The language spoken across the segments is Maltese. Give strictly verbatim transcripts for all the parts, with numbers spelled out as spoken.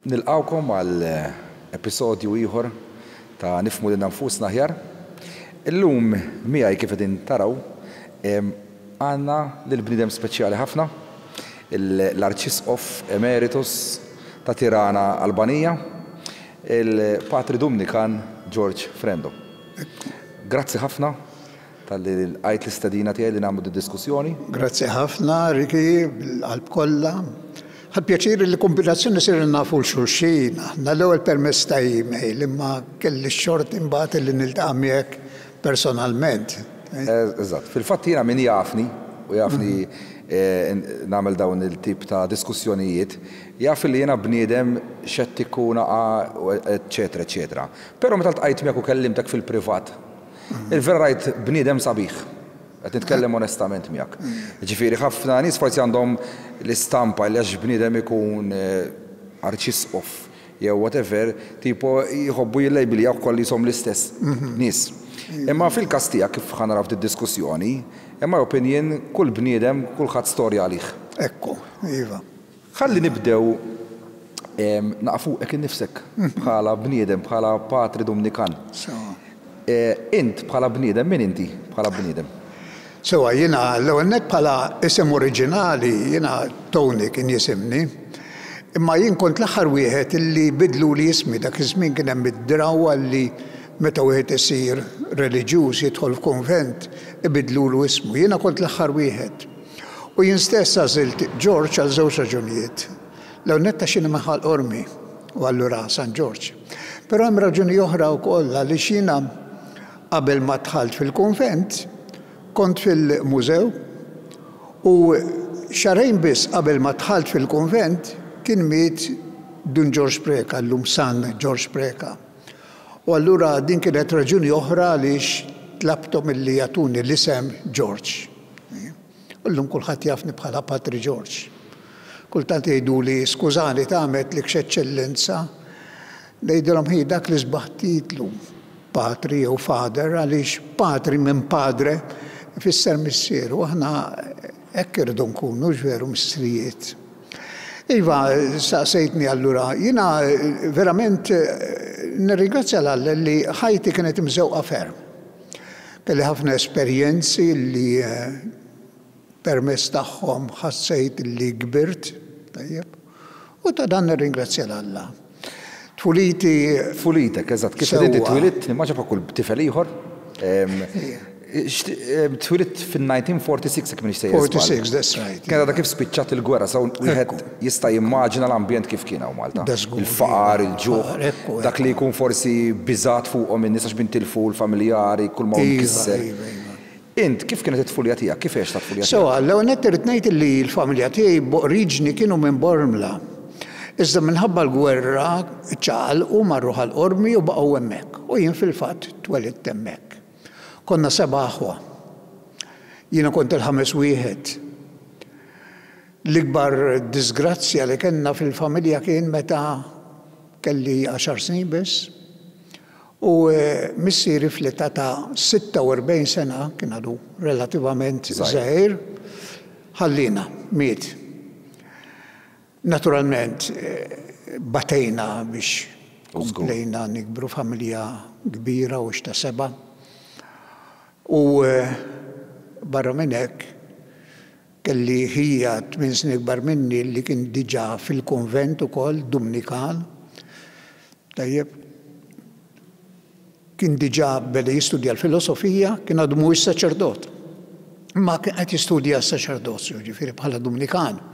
Nilqgħukom għal episodju ieħor ta' Nifhmu Lilna Nfusna Aħjar. Illum miegħi, kif qegħdin taraw, għandna lil bniedem speċjali ħafna, l-Arċisqof Emeritus ta' Tirana, Albanija, il-Patri Dumnikan George Frendo. Grazzi ħafna talli lqajt l-istedina tiegħi li nagħmlu diskussjoni. Grazzi ħafna, Ricky, bil-qalb kollha. Ħadt pjaċir li kombinazzjoni sirna nafu 'l xulxin. Aħna l-ewwel permezz ta' email, imma kelli x-xorti imbagħad li niltaqa' miegħek personalment. Eżatt. Fil-fatt jiena, min jafni u jafni eh, nagħmel dawn il-tip ta' diskussjonijiet, jaf li jiena bniedem xettiku naqa, eċetera, eċetera. Però meta ltqajt miegħek u kellimtek fil-privat, il-vera rajt bniedem sabiħ. Qed nitkellem onestament miegħek. Ġifieri ħafna nies forsi għandhom l-istampa li għax bniedem ikun eh, arċisqof jew whatever, tipo jħobbu jillejbiljaw kollha jisom l-istess nies. Imma fil-każ tiegħek, kif ħa naraw diskussjoni, in my opinion, kull bniedem, kulħadd storja għalih. Ekku, iva. Ħalli nibdew naqfu ek innifsek bħala bniedem, bħala Patri Dumnikan. Eh, int bħala bniedem, min inti bħala bniedem? Sewa, jiena l-ewwel nett bħala isem oriġinali, jiena Tony kien jisimni. Imma jien kont l-aħħar wieħed illi bidluli ismi. Dak iż-żmien kien hemm id-drawwa li meta wieħed isir reliġjuż, jidħol f'konvent, ibidlulu ismu. Jiena kont l-aħħar wieħed. U jien stess għażilt George għal żewġ raġunijiet. L-ewwel nett għax jiena Ħal Qormi u allura San George. Però hemm raġuni oħra wkoll, għaliex jiena qabel ma dħalt fil-konvent kont fil-mużew u xahrejn biss qabel ma dħalt fil-konvent kien miet Dun George Preka, llum San George Preka. U allura din kienet raġuni oħra għaliex tlabthom illi jagħtuni l-isem George. U llum kulħadd jafni bħala Patri George. Kultant jgħiduli, "Skużani, tagħmel Eċċellenza." Ngħidilhom, "Ħi, dak l-isbaħ titlu, patri jew father, għaliex patri minn padre ifisser missier, u aħna hekk irridu nkunu, veru, missirijiet." Iva, saqsejtni allura, jiena verament nirringrazzja 'l Alla li ħajti kienet imżewqa ferm. Kelli ħafna esperjenzi li permezz tagħhom ħassejt li kbirt, tajjeb, u ta' dan nirringrazzja 'l Alla. Tfuliti. Tfulitek, eżatt, kif inti twilidt, nimmaġina bħal kull tifel ieħor. Twilidt fin-elf disa' mija u erbgħa u erbgħin, jekk m'iniex sejjer. forty-six, that's right. Kien għadha kif spiċċat il-gwerra, so wieħed jista' jimmaġina l-ambjent kif kien hawn Malta. Il-faqar, il-ġuħ, dak li jkun forsi biżat fuqhom in-nies għax tilfu l-familjari, kull ma kisser. Iva, iva. Int, kif kienet it-tfulija tiegħek? Kif għext t-tfulija tiegħek? So, l-ewwel nett irrid ngħid li l-familja tiegħi b'oriġni kienu minn Bormla. Iżda minħabba l-gwerra ċaqalqu, marru Ħal Qormi u baqgħu hemmhekk. U jien fil-fatt twelidt hemmhekk. Konna seba' aħwa. Jiena kont il-ħames wieħed. L-ikbar disgrazzja li kellna fil-familja kien meta kelli għaxar snin biss. U eh, missieri fl-età ta' sitta u erbgħin sena, kien għadu relativament żgħir, ħallina, miet. Naturalment, eh, batejna biex komplejna nikbru, familja kbira u ta' seba'. U eh, barra minn hekk kelli ħija tmien snin ikbar minni li kien diġà fil-konvent ukoll Dumnikan. Tajjeb, kien diġà beda jistudja l-filosofija, kien għadu mhuwiex saċerdot. Ma kien qed jistudja s-saċerdozju, ġifieri bħala Dumnikan.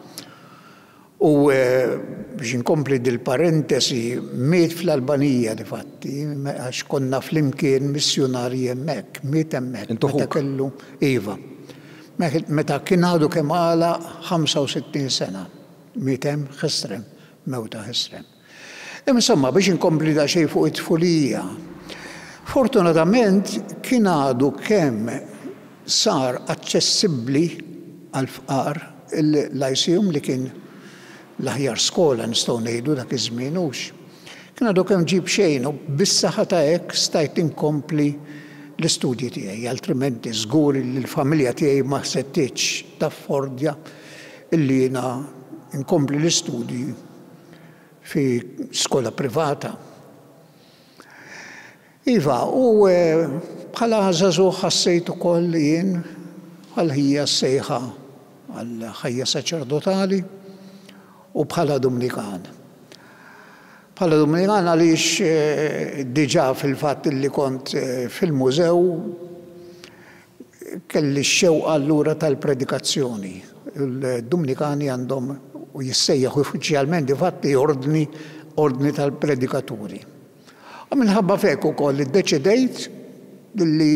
U eh, biex inkompli dil-parentesi, miet fl-Albanija di fatti, għax konna flimkien missjonarji hemmhekk, miet hemmhekk. Meta kellu, iva. Meta kien għadu kemm għalaq ħamsa u sittin sena, miet hemm ħesrem, mewta ħesrem. Insomma, biex inkompli daqsxejn fuq it-tfulija. Fortunatament kien għadu kemm sar aċċessibbli għal-fqar il-Lyceum, li kien l-aħjar skola, nistgħu ngħidu, dak iż-żmien hux. Kien għadu kemm ġie b'xejn u bis-saħħa ta' hekk stajt inkompli l-istudji tiegħi, altrimenti żgur li l-familja tiegħi ma setgħetx taffordja illi jiena nkompli l-istudji Fi skola privata. Iva, u eh, bħala żagħżugħ ħassejt ukoll jien bħal ħija sejħa għal ħajja saċerdotali u bħala Dumnikan. Bħala Dumnikan għaliex eh, diġà fil-fatt li kont eh, fil-mużew kelli x-xewqa allura tal-predikazzjoni. Il-Dumnikani għandhom u jissejjaħ uffiċjalment difatti ordni ordni tal-predikaturi. U minħabba f'hekk ukoll iddeċidejt li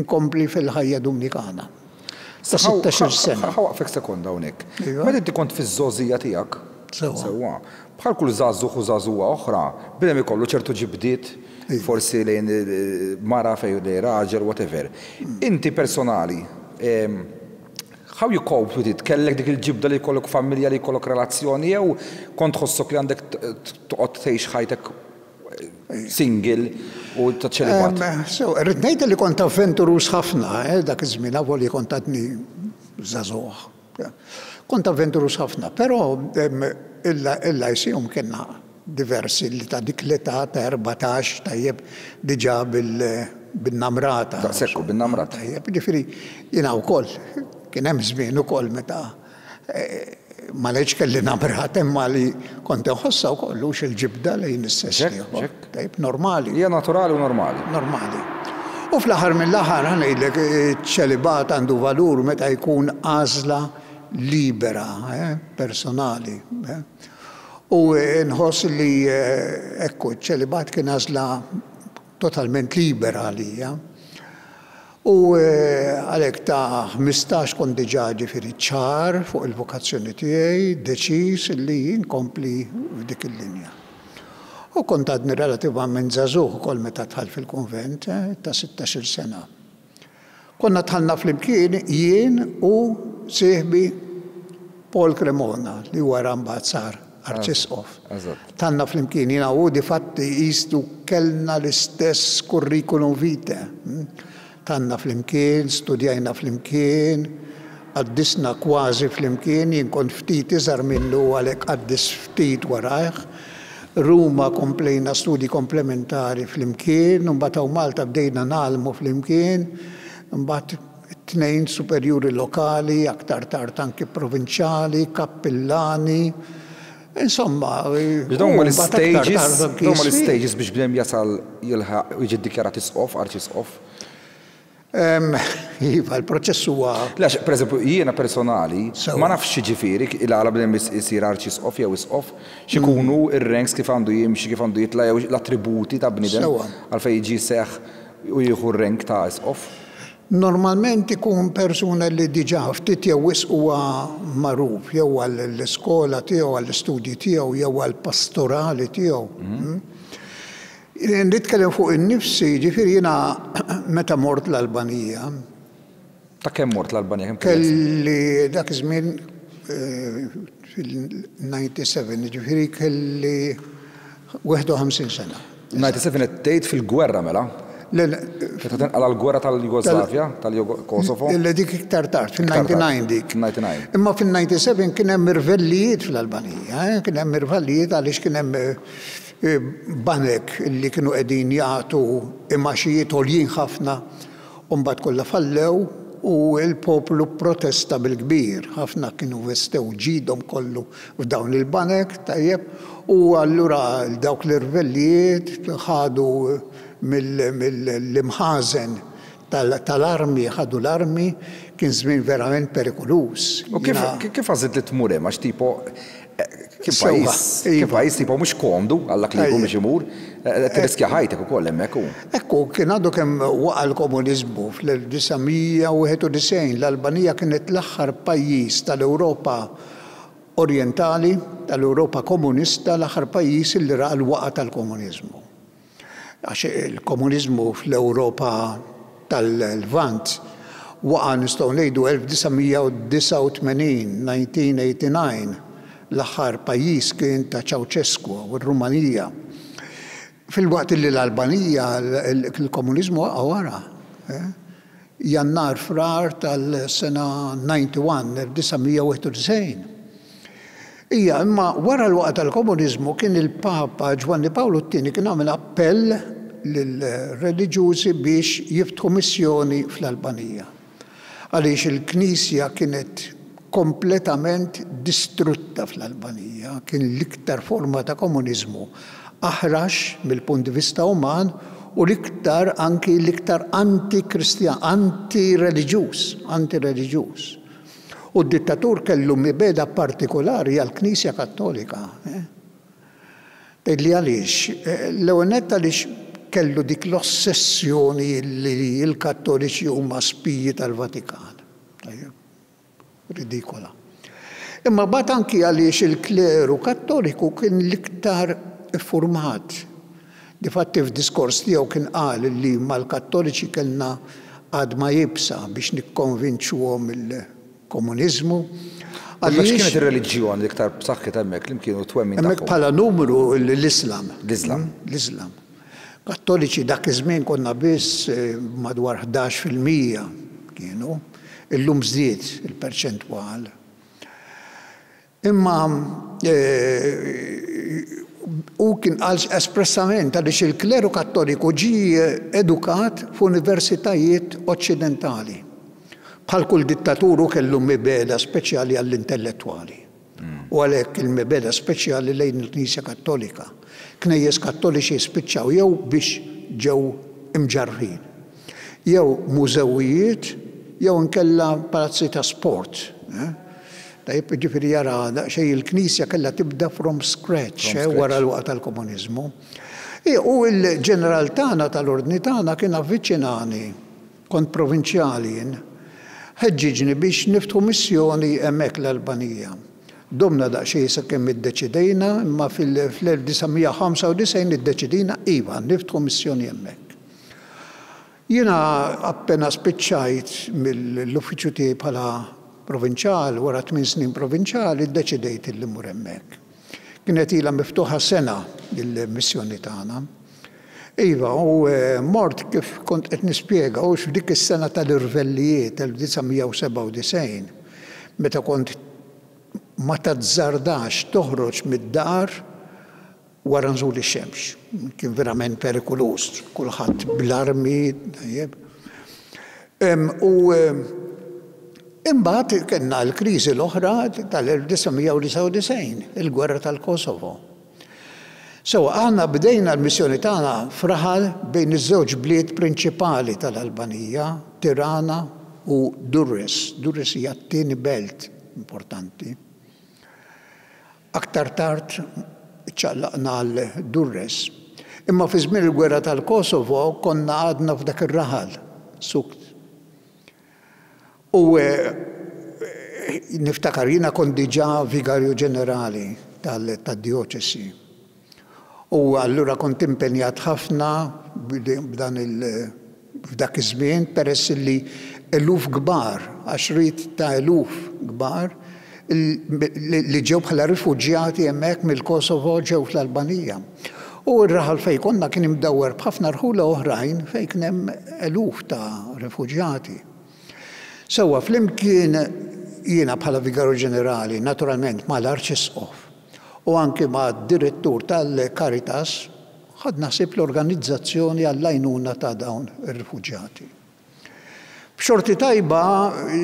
nkompli fil-ħajja Dumnikana. Ta' sittax-il sena. Ħa nwaqqfek sekonda hawnhekk. Iva. Meta inti kont fiż-żgħożija tiegħek, Sewwa. sewwa, bħal kull żagħżugħ u żagħżugħa oħra, bniedem ikollu ċertu ġibdiet, Iva. forsi lejn eh, mara fejn lejn raġel, whatever. Inti personali, em, how you cope with it? Kellek dik il-ġibda li jkollok familja, li jkollok relazzjoni, jew kont tħossok li għandek t- t- toqgħod tgħix ħajtek eh, single u ta' ċelibat? Em, So, irrid ngħid li kont avventurus ħafna, eh, dak iż-żmien avolja kont għadni żagħżugħ. Kont avventurus ħafna, però em, illa il-Lyceum kellna diversi li ta' dik l-età ta' erbatax, tajjeb, diġà bil- bin-namrata. Daqshekk, bin-namrata. Tajjeb, ġifieri jiena wkoll kien hemm żmien ukoll meta eh, ma ngħidx kelli namrata imma li kont inħossha wkoll hux il-ġibda lejn is-sess Ġek, ieħor. ġek. Tajjeb, normali. Hija naturali u normali. Normali. U fl-aħħar mill-aħħar ħa ngħidlek ċelibat għandu valur meta jkun għażla libera, eh, personali. Eh. U nħoss li eh, ekku, ċelibat kien għażla totalment libera għalija. U eh, għalhekk ta' ħmistax kont diġà ġifieri ċar fuq il-vokazzjoni tiegħi, deċiż li nkompli f'dik il-linja. U kont għadni relativament żagħżugħ ukoll meta dħalt fil-konvent, eh, ta' sittax-il sena. Konna dħalna flimkien jien u sieħbi Paul Cremona li wara mbagħad sar arċisqof. Eżatt. Dħalna flimkien jiena u difatti jistu kellna l-istess curriculum vitae. Dħalna flimkien, studjajna flimkien, qaddisna kważi flimkien, jien kont ftit iżgħar minnu għalhekk qaddis ftit warajh. Ruma komplejna studi komplementari flimkien, mbagħad hawn Malta bdejna ngħallmu flimkien, mbagħad tnejn superjuri lokali, aktar tard anki provinċjali, kappillani, insomma. Dawn huma u mbagħad aktar l-stages, tard anki dawn huma isfi. l-stages biex bniedem jasal jilħaq u jiġi ddikjarat isqof, arċisqof. Em, Iva, il-proċess huwa Lex, per eżempju, jiena personali, Sewwa. ma nafx ġifieri il-għala bniedem isir arċisqof jew isqof, x'ikunu ir-ranks kif għandu jimxi, kif għandu jitla' jew l-attributi ta' bniedem Sewwa. għalfejn jiġi seħ u jieħu r-rank ta' isqof. Normalment ikun persuna li diġà ftit jew wisq huwa magħruf jew għall-iskola tiegħu, għall-istudji tiegħu, jew għall-pastorali tiegħu. Mm. Nitkellem fuq in-nifsi, ġifieri jiena meta mort l-Albanija, Ta' kemm mort l-Albanija? Kemm kellek? kelli dak iż-żmien eh, fil-disgħa u disgħin, ġifieri kelli wieħed u ħamsin sena. disgħa u disgħin qed tgħid fil-gwerra mela? Le, le, Meta tinqala l-gwerra tal-Jugoslavja, tal-Kosovo? Le, dik iktar tard, fil-disgħa u disgħin dik. disgħa u disgħin. Imma fil-disgħa u disgħin kien hemm irvellijiet fl-Albanija, eh? Kien hemm irvellijiet għaliex kien hemm eh, banek li kienu qegħdin jagħtu imgħaxijiet għoljin ħafna u mbagħad kollha fallew u l-poplu protesta bil-kbir. Ħafna kienu investew ġidhom kollu f'dawn il-banek, tajjeb, u allura dawk l-irvellijiet ħadu mill-imħażen tal-armi, ħadu l-armi, kien żmien verament perikoluż. U kif Jiena- kif għażilt li tmur hemm għax tipo eh, kien Sewwa, pajjiż, kien iva. pajjiż tipo mhux komdu għal dak li jkun biex imur, eh, tirriskja ħajtek ukoll hemmhekk hu. Ekku, kien għadu kemm waqa l-komunizmu fl-elf disa' mija u wieħed u disgħin, l-Albanija kienet l-aħħar pajjiż tal-Ewropa Orientali, tal-Ewropa komunista, l-aħħar pajjiż li ra l-waqa tal-komunizmu. Għax il-komunizmu fl-Ewropa tal-Lvant waqa nistgħu ngħidu elf disa' mija u disgħa u tmenin, elf disa' mija u disgħa u tmenin, l-aħħar pajjiż kien ta' Ceausescu u r-Rumanija. Filwaqt li l-Albanija il-komunizmu waqa wara. eh? Jannar Frar tal-sena wieħed u disgħin, elf disa' mija u wieħed u disgħin. Ija, imma wara l-waqgħa tal-komuniżmu kien il-Papa Ġwanni Pawlu t-Tieni kien għamel appell lill-reliġjużi biex jiftħu missjoni fl-Albanija. Għaliex il-Knisja kienet kompletament distrutta fl-Albanija, kien l-iktar forma ta' komuniżmu aħrax mill-punt di vista uman u l-iktar anki l-iktar anti-kristjan, anti-reliġjuż, anti-reliġjuż. U d-dittatur kellu mibegħda partikolari għall-Knisja Kattolika. Tgħidli għaliex? L-ewwel nett għaliex kellu dik l-ossessjoni li l-Kattoliċi huma spiji tal-Vatikan. Ridikola. Imma mbagħad anki għaliex il-kleru Kattoliku kien l-iktar iffurmat. Difatti f'diskors tiegħu kien qal li mal-Kattoliċi kellna għadma iebsa biex nikkonvinċuhom il-komuniżmu. Għaliex kienet ir-reliġjon l-iktar b'saħħitha hemmhekk li kienu twemmin tagħhom? Hemmhekk bħala numru l-Islam. L-Islam. L-Islam. Kattoliċi dak iż-żmien konna biss madwar ħdax fil-mija kienu. Illum żdied il-perċentwal. Imma u kien qal espressament għaliex il-kleru Kattoliku ġie edukat f'universitajiet oċċidentali. Bħal kull dittatur hu kellu mibegħda speċjali għall-intellettwali. U għalhekk il-mibegħda speċjali lejn il-Knisja Kattolika. Knejjes Kattoliċi spiċċaw jew biex ġew imġarrfin, jew mużewijiet, jew inkella palazzi ta' sport. Tajjeb, ġifieri jara daqsxejn il-Knisja kellha tibda from scratch wara l-waqgħa tal-komuniżmu. U l-ġeneral tagħna tal-ordni tagħna kien avviċinani, kont provinċjali jien, ħeġġiġni biex niftħu missjoni hemmhekk l-Albanija. Domna daqsxejn sakemm iddeċidejna, imma fil-elf disa' mija u ħamsa u disgħin iddeċidejna iva niftħu missjoni hemmhekk. Jiena appena spiċċajt mill-uffiċċju tiegħi bħala provinċjal, wara tmien snin provinċjal, iddeċidejt li mmur hemmhekk. Kienet ilha miftuħa sena il-missjoni tagħna. Iva, u mort kif kont qed nispjega, u f'dik is-sena tal-irvellijiet elf disa' mija u sebgħa u disgħin, meta kont ma tazzardax toħroġ mid-dar wara nżul ix-xemx. Kien verament perikoluż, kulħadd bl-armi, tajjeb. U imbagħad kellna l-kriżi l-oħra tal-elf disa' mija u disgħa u disgħin, il-gwerra tal-Kosovo. So, aħna bdejna l-missjoni tagħna f'raħal bejn iż-żewġ bliet prinċipali tal-Albanija, Tirana u Durrës. Durrës hija t-tieni belt importanti. Aktar tard ċaqlaqna għal Durrës. Imma fi żmien il-gwerra tal-Kosovo konna għadna f'dak ir-raħal, Sukt. U niftakar jiena kont diġà vigarju ġenerali tad-dioċesi. U allura kont impenjat ħafna b'dan il f'dak iż-żmien peress li eluf kbar, għaxriet ta' eluf kbar li ġew bħala rifuġjati hemmhekk mill-Kosovo ġew fl-Albanija. U r-raħal fejn konna kien imdawwar b'ħafna rħula oħrajn fejn kien hemm eluf ta' rifuġjati. Sewwa flimkien jiena bħala vigarju ġenerali, naturalment mal-Arċisqof u anki ma' direttur tal-Caritas, ħadna ħsieb l-organizzazzjoni għall-għajnuna ta' dawn ir-rifuġjati. B'xorti tajba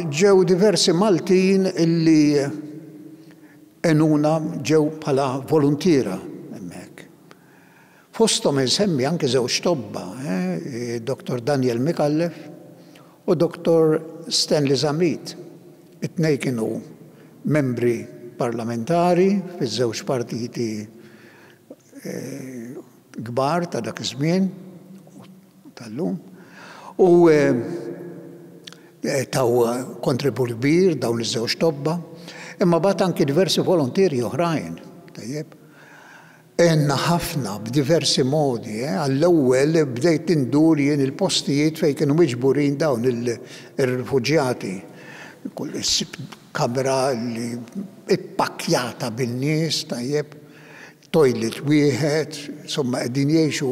ġew diversi Maltin illi għenuna ġew bħala voluntiera hemmhekk. Fosthom insemmi anke żewġ tobba, eh, Doktor Daniel Micallef u Doktor Stanley Zammit. It-tnejn kienu membri parlamentari fiż-żewġ partiti kbar ta' dak iż-żmien tal-lum. U taw kontribut kbir dawn iż-żewġ tobba, imma bagħat anki diversi volontieri oħrajn. Tajjeb. Għenna ħafna b'diversi modi. Għall-ewwel bdejt indur jien il-postijiet fejn kienu miġburin dawn ir-rifuġjati. Kull issib kamra li ippakkjata bin-nies, tajjeb, toilet wieħed, insomma qegħdin jgħixu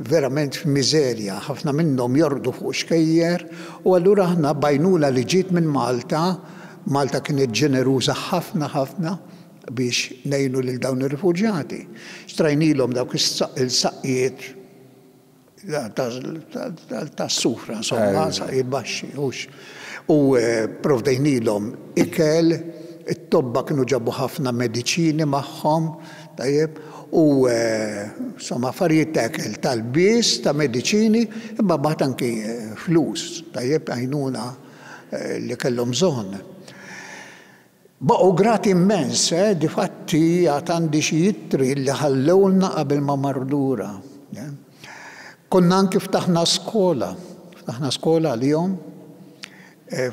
verament f'miżerja, ħafna minnhom jorqdu fuq xkejjer, u allura aħna bajnuna li ġiet minn Malta, Malta kienet ġeneruża ħafna ħafna, biex ngħinu lil dawn ir-rifuġjati. Xtrajnilhom dawk il-saqqijiet tas-sufra, insomma, saqqijiet baxxi, hux. U provdejnilhom ikel, it-tobba kienu ġabu ħafna mediċini magħhom, tajjeb, u insomma affarijiet ta' ikel, tal-bies, ta' mediċini, imma mbagħad anki flus, tajjeb, għajnuna li kellhom bżonn. Baqgħu grati immens, eh, difatti għad għandi xi ittri li ħallewlna qabel ma marru lura. Konna anki ftaħna skola, ftaħna skola għalihom,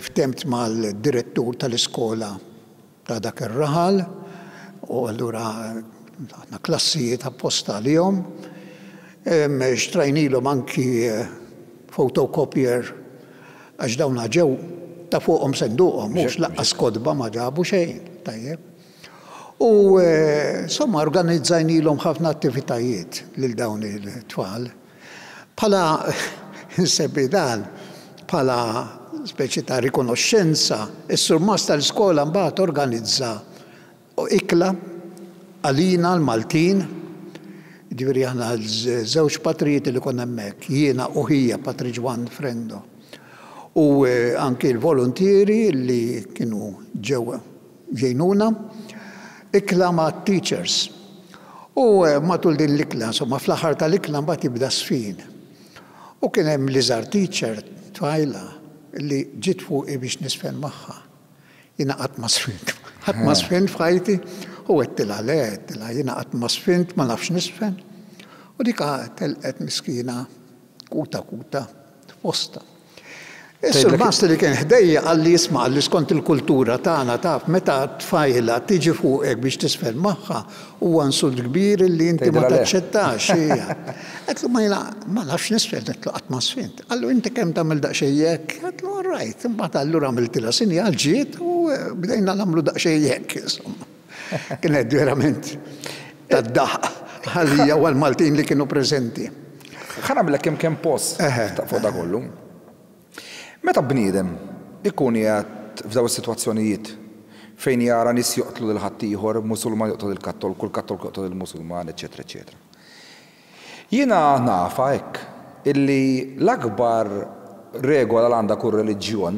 ftemt mal-direttur tal-iskola ta' dak ir-raħal, u allura ftaħna klassijiet apposta għalihom. Xtrajnilhom anki photocopier għax dawna ġew ta' fuqhom senduqhom, mhux laqqas kotba ma ġabu xejn, tajjeb. U insomma organizzajnilhom ħafna attivitajiet lil dawn it-tfal. Bħala insemmi dan, bħala speċi ta' rikonoxxenza, is-surmast tal-iskola mbagħad organizza ikla għalina l-Maltin, ġifieri aħna żewġ patrijiet li konna hemmhekk, jiena u ħija Patri Ġwann Frendo. U anki l-volontieri li kienu ġew jgħinuna, ikla ma' teachers. U matul din l-ikla, insomma, fl-aħħar tal-ikla mbagħad jibda sfin. U kien hemm l-iżgħar teacher tfajla li ġiet fuqi biex nisfen magħha. Jiena qatt ma sfint. Qatt ma sfint f'ħajti u għedtilha le, għedtilha jiena qatt ma sfint, ma nafx nisfen. U dika telqet miskina kuta kuta f'posta. Is-surmast li kien ħdejja qalli isma' qalli skont il-kultura tagħna taf meta tfajla tiġi fuqek biex tisfen magħha huwa insult kbir li inti ma taċċettax. Għedtlu ma jiena ma nafx nisfen, għedtlu qatt ma sfint. Qallu inti kemm tagħmel daqsxejn hekk? Għedtlu all right. Imbagħad allura għamiltilha sinjal ġiet u bdejna nagħmlu daqsxejn hekk insomma. Kienet verament tad-daħq għalija u għall-Maltin li kienu preżenti. Ħa nagħmlek kemm kemm post fuq da kollu. Meta bniedem ikun qiegħed f'daw is-sitwazzjonijiet fejn jara nies joqtlu lil ħaddieħor, Musulman joqtol il-Kattolku, il-Kattolku joqtol il-Musulman, eċetera, eċetera. Jiena nafa hekk illi l-akbar regola li għandha kull reliġjon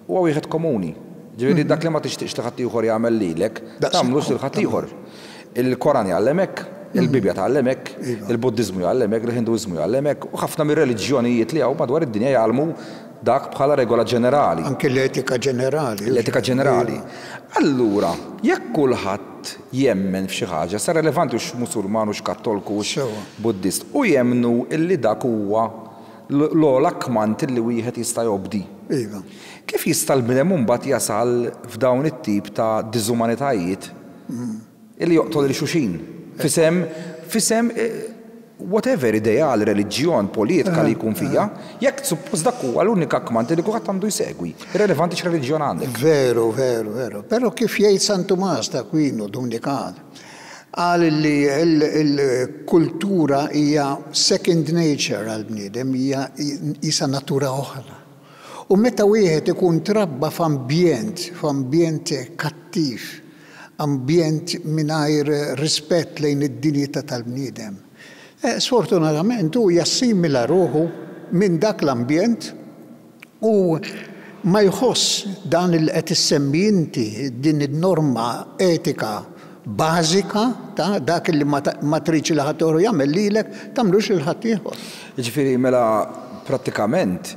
huwa wieħed komuni. Ġifieri dak li ma tixtieqx li ħaddieħor jagħmel lilek, tagħmlux lil ħaddieħor. Il-Koran jgħallem hekk, il-Bibja tgħallem hekk, il-Buddiżmu jgħallem hekk, il-Hinduiżmu jgħallem hekk, u ħafna mir-reliġjonijiet li hawn madwar id-dinja jgħallmu dak bħala regola ġenerali. Anki l-etika ġenerali. L-etika ġenerali. Allura, jekk kulħadd jemmen f'xi ħaġa, sa relevanti hux Musulman, hux Kattolku, hux Buddist, u jemmnu illi dak huwa l-ogħla kmand illi wieħed jista' jobdi. Iva. Kif jista' l-bniedem mbagħad jasal f'dawn it-tip ta' diżumanitajiet illi joqtol lil xulxin? Fisem, fisem whatever ideal, reliġjon, politika li jkun fija, jekk suppost dak huwa l-unika kmand li kulħadd għandu jsegwi, irrelevanti x'reliġjon għandek. Veru, veru, veru. Però kif jgħid San Tumas ta' Aquino, Dumnikan, qal li l-kultura hija second nature għall-bniedem, hija isa natura oħra. U meta wieħed ikun trabba f'ambjent, f'ambjent kattiv, ambjent mingħajr rispett lejn id-dinjità tal-bniedem, sfortunatament hu jassimila ruħu minn dak l-ambjent u ma jħoss dan il qed issemmi inti din in-norma etika bażika ta' dak li ma tridx li ħadd jagħmel lilek tagħmlux lil ħadd ieħor. Jiġifieri mela prattikament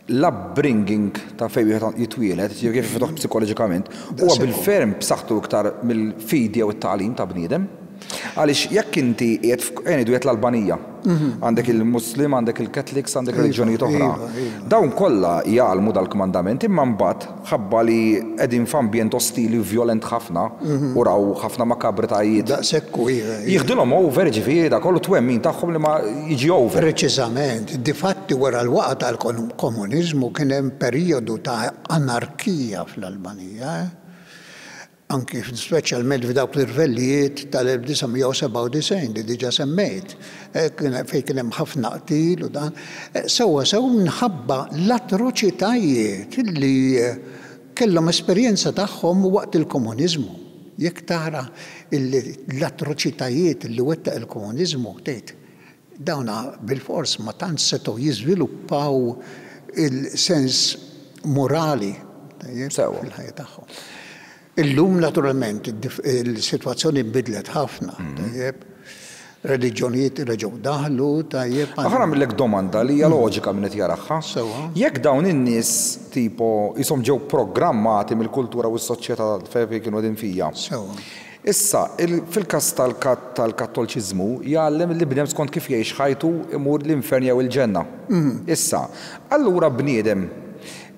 l-upbringing ta' fejn wieħed jitwieled, jiġifieri kif iftuħ psikoloġikament, huwa bil-ferm b'saħħtu iktar mill-fidi jew it-tagħlim ta' bniedem. Għaliex jekk inti qiegħed ngħidu qiegħed l-Albanija, għandek il-Muslim, għandek il-Catholics, għandek reliġjonijiet oħra. Dawn kollha jgħallmu dal-kmandament, imma mbagħad ħabba li qegħdin f'ambjent ostili u violent ħafna u raw ħafna makabritajiet. Daqshekk hu, iva, iva. Jieħdulhom over, ġifieri da kollu twemmin tagħhom li ma jiġi over. Preċiżament, difatti wara l-waqgħa tal-komuniżmu kien hemm perjodu ta' anarkija fl-Albanija, eh? Anki speċjalment f'dawk l-irvellijiet tal-elf disa' mija u sebgħa u disgħin li diġà semmejt, fejn kien hemm ħafna qtil u dan, sewwa sew minħabba l-atroċitajiet li kellhom esperjenza tagħhom waqt il-komuniżmu. Jekk tara l-atroċitajiet li wettaq il-komuniżmu, tgħid dawna bilfors ma tantx setgħu jiżviluppaw il-sens morali fil-ħajja tagħhom. Illum naturalment il-sitwazzjoni nbidlet ħafna, tajjeb, reliġjonijiet reġgħu daħlu, tajjeb. Ħa nagħmillek domanda li hija loġika minn qed jaraha. Jekk dawn in-nies tipo jisom ġew programmati mill-kultura u s-soċjetà fejn kienu qegħdin fija. Sewwa. Issa, fil-każ tal-Kattoliċiżmu jgħallem li bniedem skont kif jgħix ħajtu imur l-infern jew il-ġenna. Issa, allura bniedem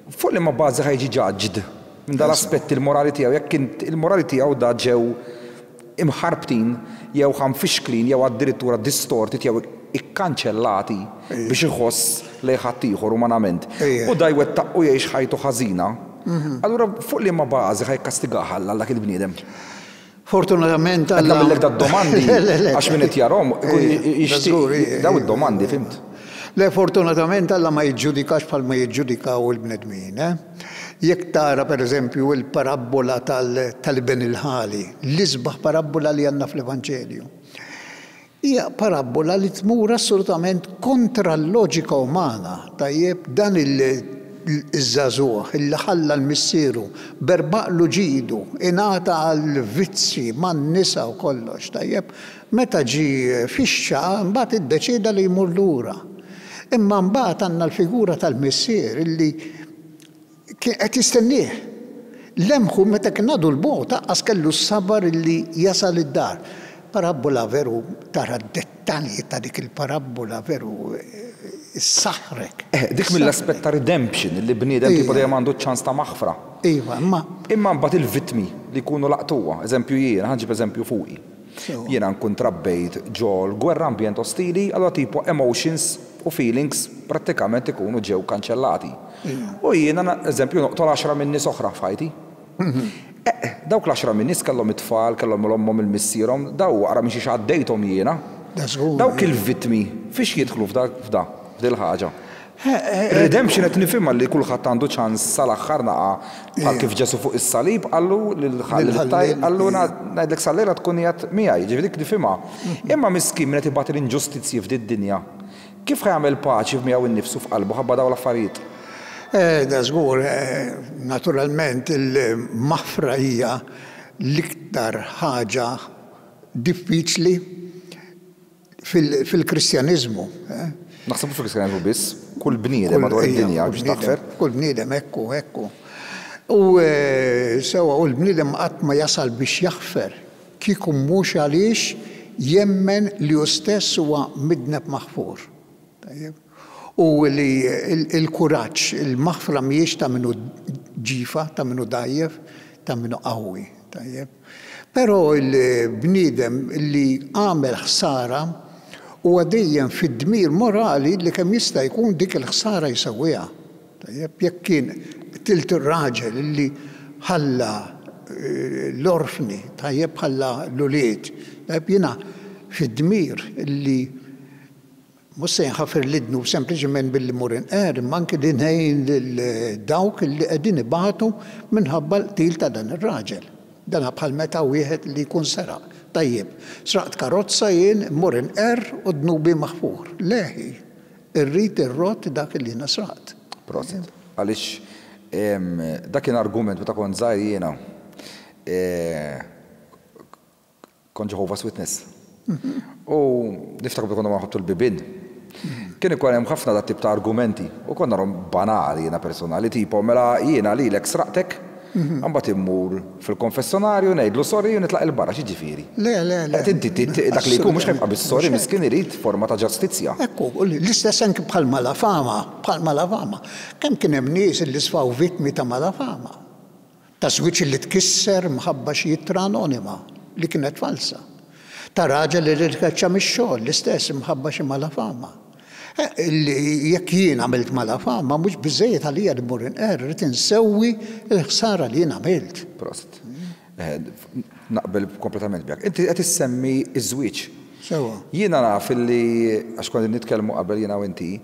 fuq liema bażi ħa jiġi judged minn dal-aspetti il-morali tiegħu, jekk il-morali tiegħu da ġew imħarbtin jew ħanfixklin jew addirittura distorti jew ikkanċellati biex iħoss lejn ħaddieħor umanament. U da jwettaq u jgħix ħajtu ħażina. Allura fuq liema bażi ħa jikkastigaha Alla dak il-bniedem? Fortunatament Qed nagħmellek dad-domandi għax min qed jarahom jixtieq daw id-domandi, fhimt? Le, fortunatament Alla ma jiġġudikax bħal ma jiġġudikaw il-bnedmin. Jekk tara per eżempju il-parabbola tal-iben il-ħali, l-isbaħ parabbola li għandna fl-Evanġelju. Hija parabbola li tmur assolutament kontra l-loġika umana. Tajjeb, dan iż-żagħżugħ illi ħalla l-missieru, berbaqlu ġidu, ingħata għal vizzji man-nisa u kollox, tajjeb, meta ġie fixxa mbagħad iddeċieda li jmur lura. Imma mbagħad għandna l-figura tal-missier illi qed jistennieh. Lemħu meta kien għadu l-bogħod, anqas kellu s-sabar illi jasal id-dar. Parabbola veru, tara d-dettalji ta' dik il-parabbola veru s-saħrek. Eh, dik mill-aspett ta' redemption li bniedem tipo dejjem għandu ċans ta' maħfra. Iva, imma. Imma mbagħad il-vittmi li jkunu laqtuha, eżempju jiena, ħa nġib eżempju fuqi. Jiena nkun trabbejt ġol gwerra, ambjent ostili, allura tipo emotions u feelings prattikament ikunu ġew kanċellati. U jiena, eżempju, noqtol għaxra minn nies oħra f'ħajti. Eh, dawk l-għaxra minn nies kellhom it-tfal, kellhom l-ommhom, il-missierhom, daw waqra minn xiex għaddejthom jiena. Dawk il-vittmi fiex jidħlu f'da f'dil ħaġa? Redemption qed nifhimha li kulħadd għandu ċans sal-aħħar naqa' bħal kif Ġesu fuq is-salib qallu lil qallu ngħidlek sal-lejla tkun qiegħed miegħi, ġifieri dik nifhimha. Imma miskin min qed ibati l-inġustizzji f'did-dinja, kif ħa jagħmel paċi miegħu innifsu f'qalbu ħabba dawn l-affarijiet? Da żgur, naturalment il-maħfra hija l-iktar ħaġa diffiċli fil-Kristjaniżmu. Naħseb fil-Kristjaniżmu biss, kull bniedem madwar id-dinja biex taħfer. Kull bniedem, ekku, ekku. U sewa, u l-bniedem qatt ma jasal biex jaħfer kieku mhux għaliex jemmen li hu stess huwa midneb maħfur. U li il-kuraġġ, il-maħfra mhijiex ta' minnu ġifa, ta' minnu dajjef, ta' minnu qawwi. Tajjeb. Però il-bniedem li għamel ħsara huwa dejjem fid-dmir morali li kemm jista' jkun dik il-ħsara jsewwiha. Tajjeb, jekk kien tilt ir-raġel li ħalla l-orfni, tajjeb, ħalla l-ulied, tajjeb, jiena fid-dmir li mhux se nħafer l-idnu sempliċement billi mur inqer, imma anke li ngħin lil dawk li qegħdin ibatu minħabba l-qtil ta' dan ir-raġel. Dan bħal meta wieħed li jkun seraq. Tajjeb, sraqt karozza jien, mmur inqer u dnubi maħfur. Leħi, irrid irrot dak li jiena sraqt. Prosit. Għaliex dak kien argument meta kont żgħir jiena. Kont Jehovah's Witness. U niftakar konna ma nħottu l-bibien. Kien ikun hemm ħafna dat tip ta' argumenti u konna narhom banali jiena personali, tipo mela jiena lilek sraqtek, imbagħad immur fil-konfessjonarju ngħidlu sorry u nitlaq il-barra, x'jiġifieri? Le, le, le. Qed inti dak li jkun mhux ħa jibqa' bis-sorry, miskin irid forma ta' ġustizzja. Ekku, l-istess anke bħal malafama, bħal malafama. Kemm kien hemm nies li sfaw vittmi ta' malafama? Ta' żwieġ li tkisser mħabba xi ittra anonima li kienet falsa. Ta' raġel li rikaċċa mix-xogħol, l-istess imħabba xi malafama. Jekk jien għamilt malafama, mhux biżejjed għalija li mmur inqer, irid insewwi l-ħsara li jien għamilt. Prosit. Naqbel kompletament miegħek. Inti qed issemmi ż-żwieġ. Sewwa. Jiena naf illi, għax konna nitkellmu qabel jiena u inti,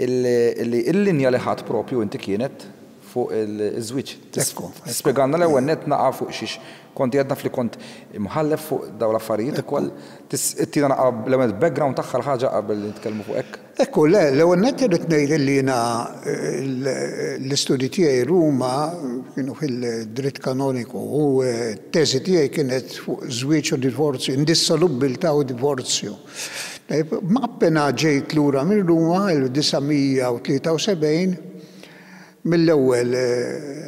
illi l-linja li ħadd propju inti kienet fuq iż-żwieġ. Tispjegalna l-ewwel nett naqa' fuq xiex kont għedna li kont imħallef fuq dawn l-affarijiet ukoll. Ttina naqa' l-ewwel background tagħha l-ħaġa qabel nitkellmu fuq hekk. Ekku, le, l-ewwel nett irrid ngħid li jiena l-istudji tiegħi Ruma kienu fil-dritt kanoniku u t-teżi tiegħi kienet fuq żwieġ u divorzju, indissolubbiltà u divorzju. Ma appena ġejt lura minn Ruma elf disa' mija u tlieta u sebgħin, mill-ewwel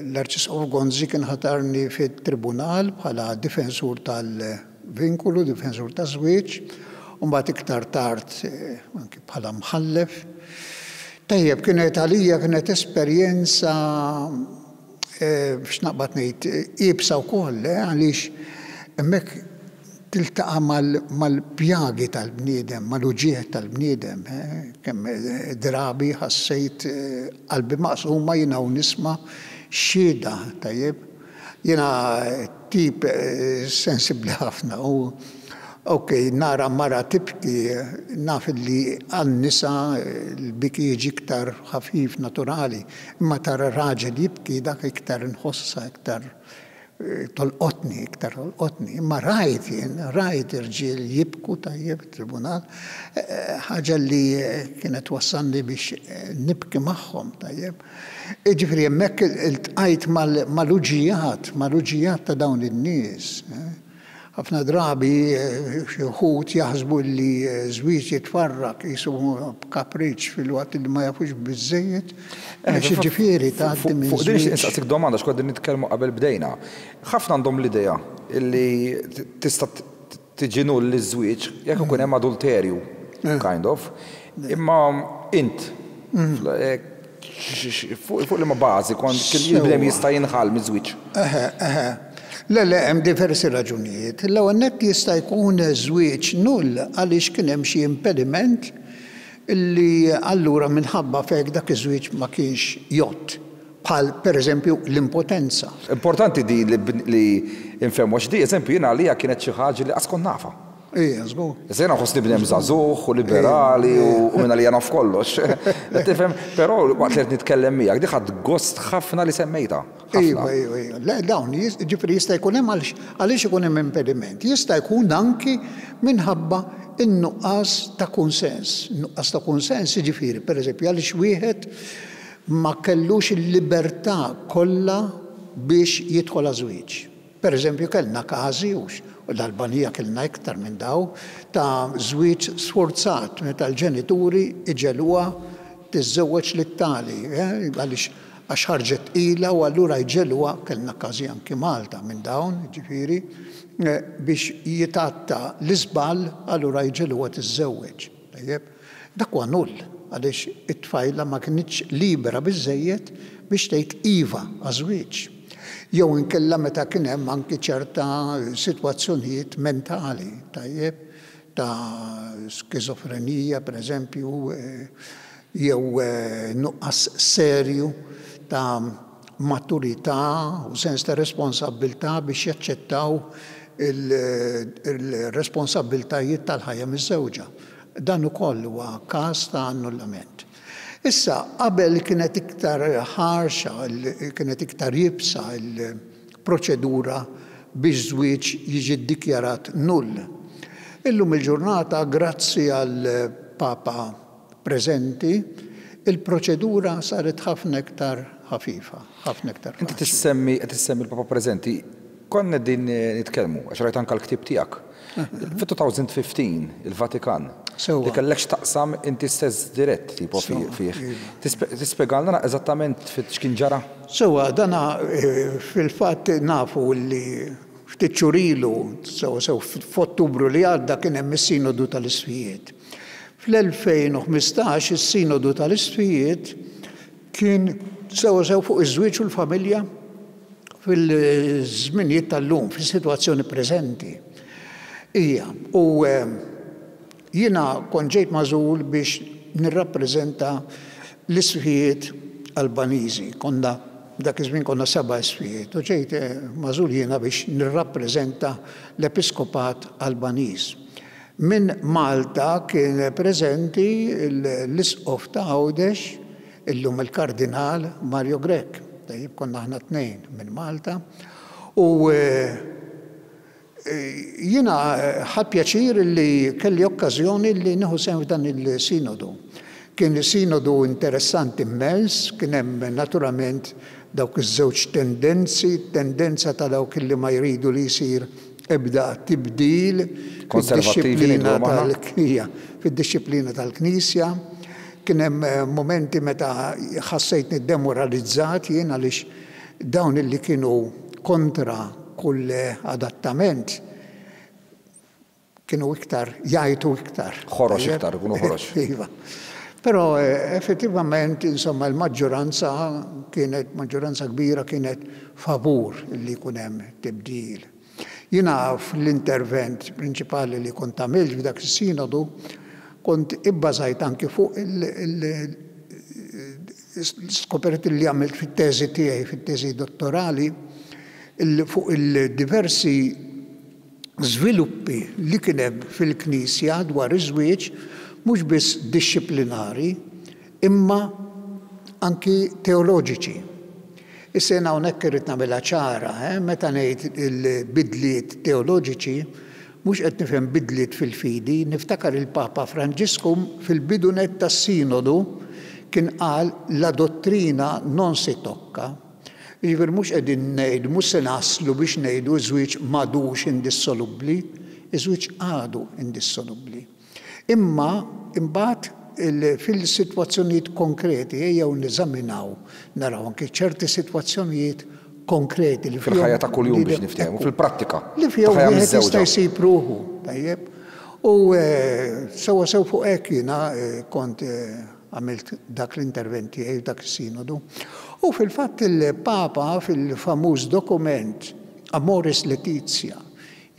l-Arċisqof Gonzi kien ħatarni fit-tribunal bħala difensur tal-vinkulu, difensur taż-żwieġ, u mbagħad iktar tard anki bħala mħallef. Tajjeb, kienet għalija kienet esperjenza biex naqbad ngħid iebsa wkoll, għaliex hemmhekk tiltaqa' mal-pjagi tal-bniedem, mal-uġigħ tal-bniedem. Kemm drabi ħassejt qalbi maqsuma jiena u nisma' xhieda, tajjeb. Jiena tip sensibbli ħafna u ok, nara mara tibki, naf li għan-nisa l-biki jiġi iktar ħafif naturali, imma tara raġel jibki dak iktar nħossa, iktar tolqotni, iktar tolqotni. Imma rajt jien, rajt irġiel jibku tajjeb tribunal, ħaġa li kienet wassalni biex nibki magħhom tajjeb. Jiġifieri hemmhekk iltqajt mal-uġijat, mal-uġijat ta' dawn in-nies. Ħafna drabi xi wħud jaħsbu li żwieġ jitfarrak qisu b'kapriċċ filwaqt li ma jafux biżżejjed. Jiġifieri tgħaddi minn Fuq din nistaqsik domanda x'konna nitkellmu qabel bdejna. Ħafna għandhom l-idea li tista' tiġi null iż-żwieġ jekk ikun hemm adulterju, kind of. Imma int fuq liema bażi kont il-bniedem jista' jinħall miż-żwieġ? Eħe, eħe. Le, le, hemm diversi raġunijiet. L-ewwel nett jista' jkun żwieġ null għaliex kien hemm xi impediment illi allura minħabba f'hekk dak iż-żwieġ ma kienx jgħodd, bħal pereżempju l-impotenza. Importanti din li nfehmu għax di eżempju jiena għalija kienet xi ħaġa li qas kont nafha. Ija, żgur. Issa jiena nħossni bniedem żagħżugħ u liberali u minn għalija naf kollox. Tifhem, però waqt li qed nitkellem miegħek di ħadt gost ħafna li semmejtha. Iva, iva, iva. Le, dawn, ġifieri jista' jkun hemm għaliex ikun hemm impediment. Jista' jkun anki minħabba in-nuqqas ta' kunsens. Nuqqas ta' kunsens jiġifieri, pereżempju, għaliex wieħed ma kellux il-libertà kollha biex jidħol għaż-żwieġ. Pereżempju, kellna każi, u l-Albanija kellna iktar minn daw, ta' żwieġ sforzat meta l-ġenituri iġeluha tiżżewweġ lit-tali, għaliex għax ħarġet tqila u allura jġeluha, kellna każi anki Malta minn dawn, ġifieri, biex jitatta l-iżball allura jġeluha tiżżewweġ. Tajjeb, dak huwa null għaliex it-tfajla ma kinitx libera biżżejjed biex tgħid iva għaż-żwieġ. Jew inkella meta kien hemm anki ċerta sitwazzjonijiet mentali, tajjeb, ta' skizofrenija pereżempju, jew nuqqas serju ta' maturità u sens ta' responsabbiltà biex jaċċettaw il-responsabbiltajiet tal-ħajja miż-żewġa. Dan ukoll huwa każ ta' annullament. Issa, qabel kienet iktar ħarxa, kienet iktar jibsa l-proċedura biex żwieġ jiġi ddikjarat null. Illum il-ġurnata, grazzi għal Papa preżenti, il-proċedura saret ħafna iktar ħafifa, ħafna iktar Inti tissemmi, tissemmi l-Papa preżenti, konna din nitkellmu, għax rajt anke l-ktieb tiegħek. Fit-two thousand fifteen, il-Vatikan, li kellek x'taqsam inti stess dirett tipo fih. Tispjegalna eżattament x'kien ġara? Sewwa, dana fil-fatt nafu li ftit xhur ilu, sewwa sew f'Ottubru li għadda kien hemm is-Sinodu tal-Isqfijiet. Fl-elfejn u ħmistax is-Sinodu tal-Isqfijiet kien sewwa sew fuq iż-żwieġ u l-familja fil-żminijiet tal-lum, fis-sitwazzjoni preżenti. Ija, u jiena kont ġejt magħżul biex nirrappreżenta l-isqfijiet Albaniżi. Konna dak iż-żmien konna seba' isqfijiet u ġejt magħżul jiena biex nirrappreżenta l-Episkopat Albaniż. Min Malta kien preżenti l-Isqof ta' Għawdex, illum il-Kardinal Mario Grech. Tajjeb, konna aħna tnejn minn Malta. U jiena ħadt pjaċir li kelli okkażjoni li nieħu sehem f'dan il-sinodu. Kien sinodu interessanti immens, kien hemm naturalment dawk iż-żewġ tendenzi, tendenza ta' dawk li ma jridu li jsir ebda tibdil fid-dixxiplina tal-Knisja, fid-dixxiplina tal-Knisja. Kien hemm momenti meta ħassejtni demoralizzat jien għaliex dawn li kienu kontra kull adattament kienu iktar, jgħajtu iktar. Ħorox iktar, ikunu ħorox. Iva. Però effettivament, insomma, il-maġġoranza kienet, maġġoranza kbira kienet favur li jkun hemm tibdil. Jiena fl-intervent prinċipali li kont għamilt f'dak is-sinodu kont ibbażajt anki fuq il-skoperti li għamilt fit-teżi tiegħi, fit-teżi dottorali, fuq il-diversi żviluppi li kien hemm fil-Knisja dwar iż-żwieġ, mhux biss dixxiplinari, imma anki teoloġiċi. Issa jiena hawnhekk irrid nagħmilha ċara, meta ngħid il-bidliet teoloġiċi, mhux qed nifhem bidliet fil-fidi, niftakar il-Papa Franġisku fil-bidu nett tas-sinodu kien qal la dottrina non si tocca. Jiġifieri mhux qegħdin ngħidu, mhux se naslu biex ngħidu ż-żwieġ m'għadux indissolubbli, iż-żwieġ għadu indissolubbli. Imma imbagħad fil-sitwazzjonijiet konkreti ejjew neżaminaw, naraw anke ċerti sitwazzjonijiet konkreti li fil-ħajja ta' kuljum biex niftehmu, fil-prattika. Li fihom wieħed jista' jsib ruħu, tajjeb. U sewwa sew fuq hekk jiena kont għamilt dak l-intervent tiegħi dak is-sinodu. U fil-fatt il-Papa fil-famuż dokument Amoris Laetitia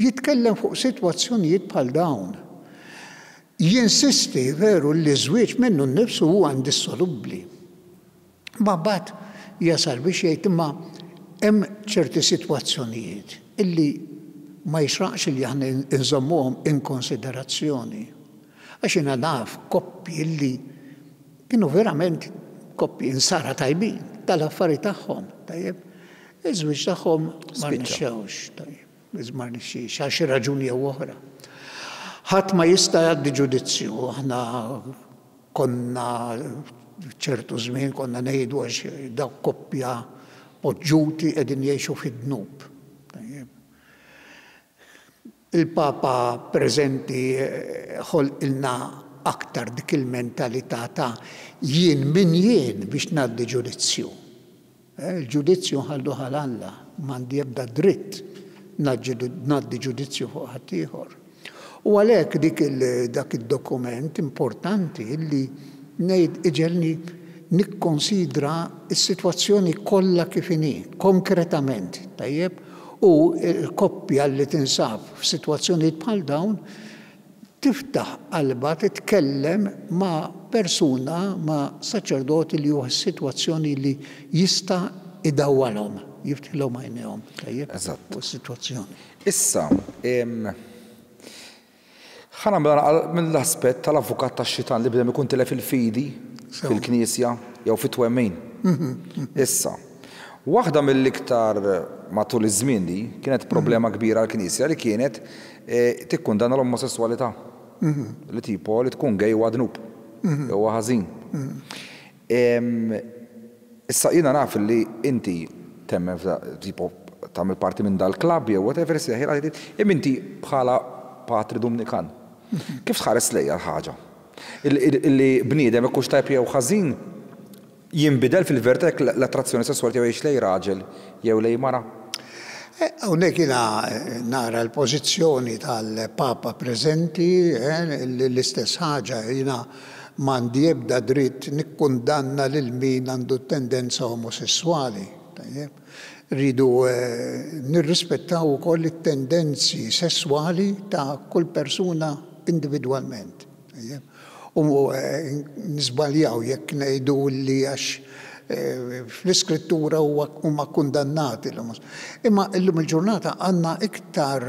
jitkellem fuq sitwazzjonijiet bħal dawn. Jinsisti veru li żwieġ minnu nnifsu huwa indissolubbli. Ma mbagħad jasal biex jgħid imma hemm ċerti sitwazzjonijiet illi ma jixraqx li aħna nżommuhom in konsiderazzjoni. Għax jiena naf koppji illi kienu verament koppji insara tajbin tal-affari tagħhom, tajjeb. Iż-żwieġ tagħhom ma rnexxewx, tajjeb. Ma rnexxiex għal xi raġuni jew oħra. Ħadd ma jista' jgħaddi ġudizzju, aħna konna ċertu żmien konna ngħidu għax dawk koppja poġġuti qegħdin jgħixu fid-dnub. Il-Papa preżenti ħolqilna aktar dik il-mentalità ta' jien min jien biex ngħaddi ġudizzju. Il-ġudizzju nħallu għal Alla, m'għandi ebda dritt ngħaddi ġudizzju fuq ħaddieħor. U għalhekk dik dak id-dokument importanti li ngħid iġelni nikkonsidra s-sitwazzjoni kollha kif inhi, konkretament, tajjeb, u l-koppja li tinsab f'sitwazzjonijiet bħal dawn tiftaħ qalbha titkellem ma' persuna, ma' saċerdoti li hu sitwazzjoni li jista' idawwalhom, jiftħilhom għajnejhom, tajjeb, fuq is-sitwazzjoni. Issa, ħa nagħmel mill-aspett tal-avukat tax-xitan li bdem ikun tilef il-fidi fil-Knisja jew fit-twemmin. Issa, waħda mill-iktar matul iż-żmien li kienet problema kbira għall-Knisja li kienet tikkundanna l-omosessualità. Li tipo li tkun gay huwa dnub, huwa ħażin. Issa jiena naf li inti temmen tipo tagħmel parti minn dal-klabb jew whatever, imma inti bħala patri Dumnikan. Kif tħares lejha l-ħaġa? Illi bniedem ikux tajb jew ħażin jinbidel fil-verità jekk l-attrazzjoni sesswali tiegħu jgħix lej raġel jew lej mara? Hawnhekk jiena nara l-pożizzjoni tal-Papa preżenti, l-istess ħaġa, jiena m'għandi ebda dritt nikkundanna lil min għandu tendenza omosessuali. Rridu nirrispettaw ukoll it-tendenzi sesswali ta' kull persuna individwalment. U nisbaljaw jekk ngħidu li għax fl-iskrittura huma kundannati. Imma illum il-ġurnata għandna iktar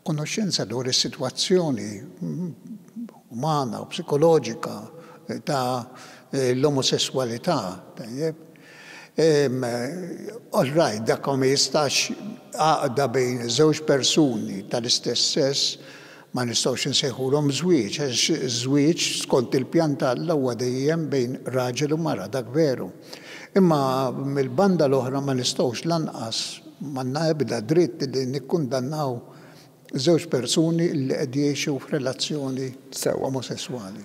konoxxenza dwar is-sitwazzjoni umana u psikoloġika ta' l-omosessualità. All right, dak ma jistax għaqda bejn żewġ persuni tal-istess sess ma nistgħux insejħulhom żwieġ, għax żwieġ skont il-pjan t'Alla huwa dejjem bejn raġel u mara, dak veru. Imma mill-banda l-oħra ma nistgħux lanqas m'għandna ebda dritt li nikkundannaw żewġ persuni li qed jgħixu f'relazzjoni omosessuali.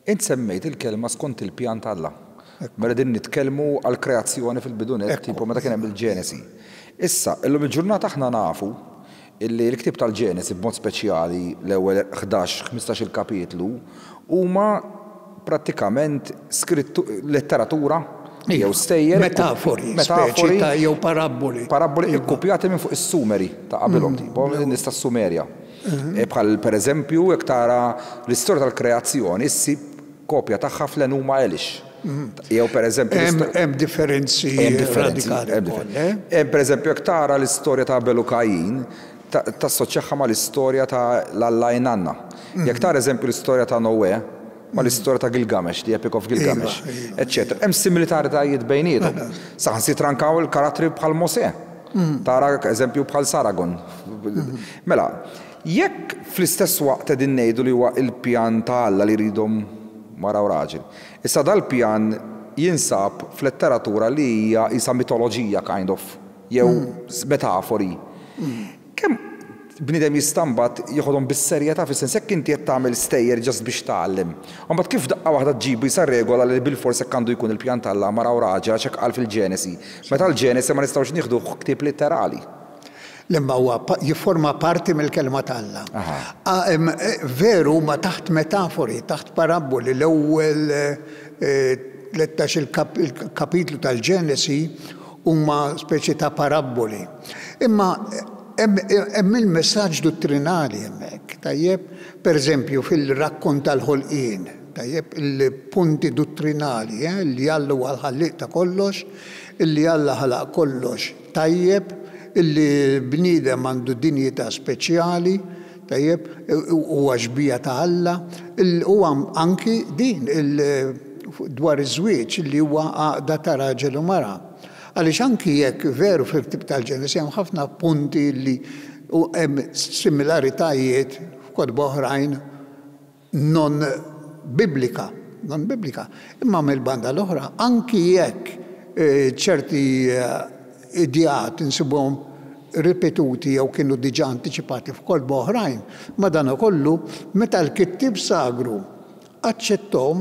Int semmejt il-kelma skont il-pjan t'Alla. Mela din nitkellmu għall-kreazzjoni fil-bidu nett, tipo meta kien hemm il-Ġenesi. Issa, illum il-ġurnata aħna nafu illi l-ktieb tal-Ġenesi b'mod speċjali l-ewwel ħdax, ħmistax il-kapitlu huma prattikament skrittu letteratura jew stejjer metafori, metafori ta' jew parabboli. Parabboli ikkupjati minn fuq is-Sumeri ta' qabilhom, tipo nies tas-Sumerja. Bħal pereżempju jekk tara l-istorja tal-kreazzjoni ssib kopja tagħha fl-Enuma Elish. Jew pereżempju hemm differenzi radikali wkoll. Hemm pereżempju jekk tara l-istorja ta' Abel u Kajin tassoċjaha mal-istorja ta' l-Alla Inanna. Jekk tara eżempju l-istorja ta' Noè mal-istorja ta' Gilgamesh, the Epic of Gilgamesh, eċċetera. Hemm similaritajiet bejniethom. Saħansitra anke l-karattri bħal Mosè. Tara eżempju bħal Saragon. Mela, jekk fl-istess waqt qegħdin ngħidu li huwa il-pjan ta' Alla li jridhom mara u raġel. Issa dal-pjan jinsab f'letteratura li hija isa mitoloġija kind of, jew metafori. Kemm bniedem jista' mbagħad jieħodhom bis-serjetà, fis-sens jekk inti qed tagħmel stejjer just biex tgħallem. U mbagħad kif daqqa waħda ġġibu jisa regola li bilfors hekk għandu jkun il-pjan t'Alla mara u raġel għax hekk qal fil-Ġenesi. Meta l-Ġenesi ma nistgħux nieħduh ktieb litterali. Imma huwa jifforma parti mill-kelma t'Alla. Veru ma taħt metafori, taħt parabboli, l-ewwel tlettax il-kapitlu tal-Ġenesi huma speċi ta' parabboli. Imma hemm il-messaġġ dottrinali hemmhekk, tajjeb, pereżempju fil-rakkont tal-ħolqien, tajjeb, il-punti dottrinali, li Alla huwa l-ħallieq ta' kollox, illi Alla ħalaq kollox tajjeb, illi l-bniedem għandu dinjità speċjali, tajjeb, huwa xbieha ta' Alla, huwa anki din dwar iż-żwieġ li huwa għaqda ta' raġel u mara. Għaliex anki jekk veru fil-ktieb tal-Ġenesi hemm ħafna punti li hemm similaritajiet f'kotba oħrajn non biblika, non biblika. Imma mill-banda l-oħra, anki jekk ċerti ideat insibuhom ripetuti jew kienu diġà antiċipati f'kotba oħrajn, madanakollu meta l-kittieb sagru aċċettom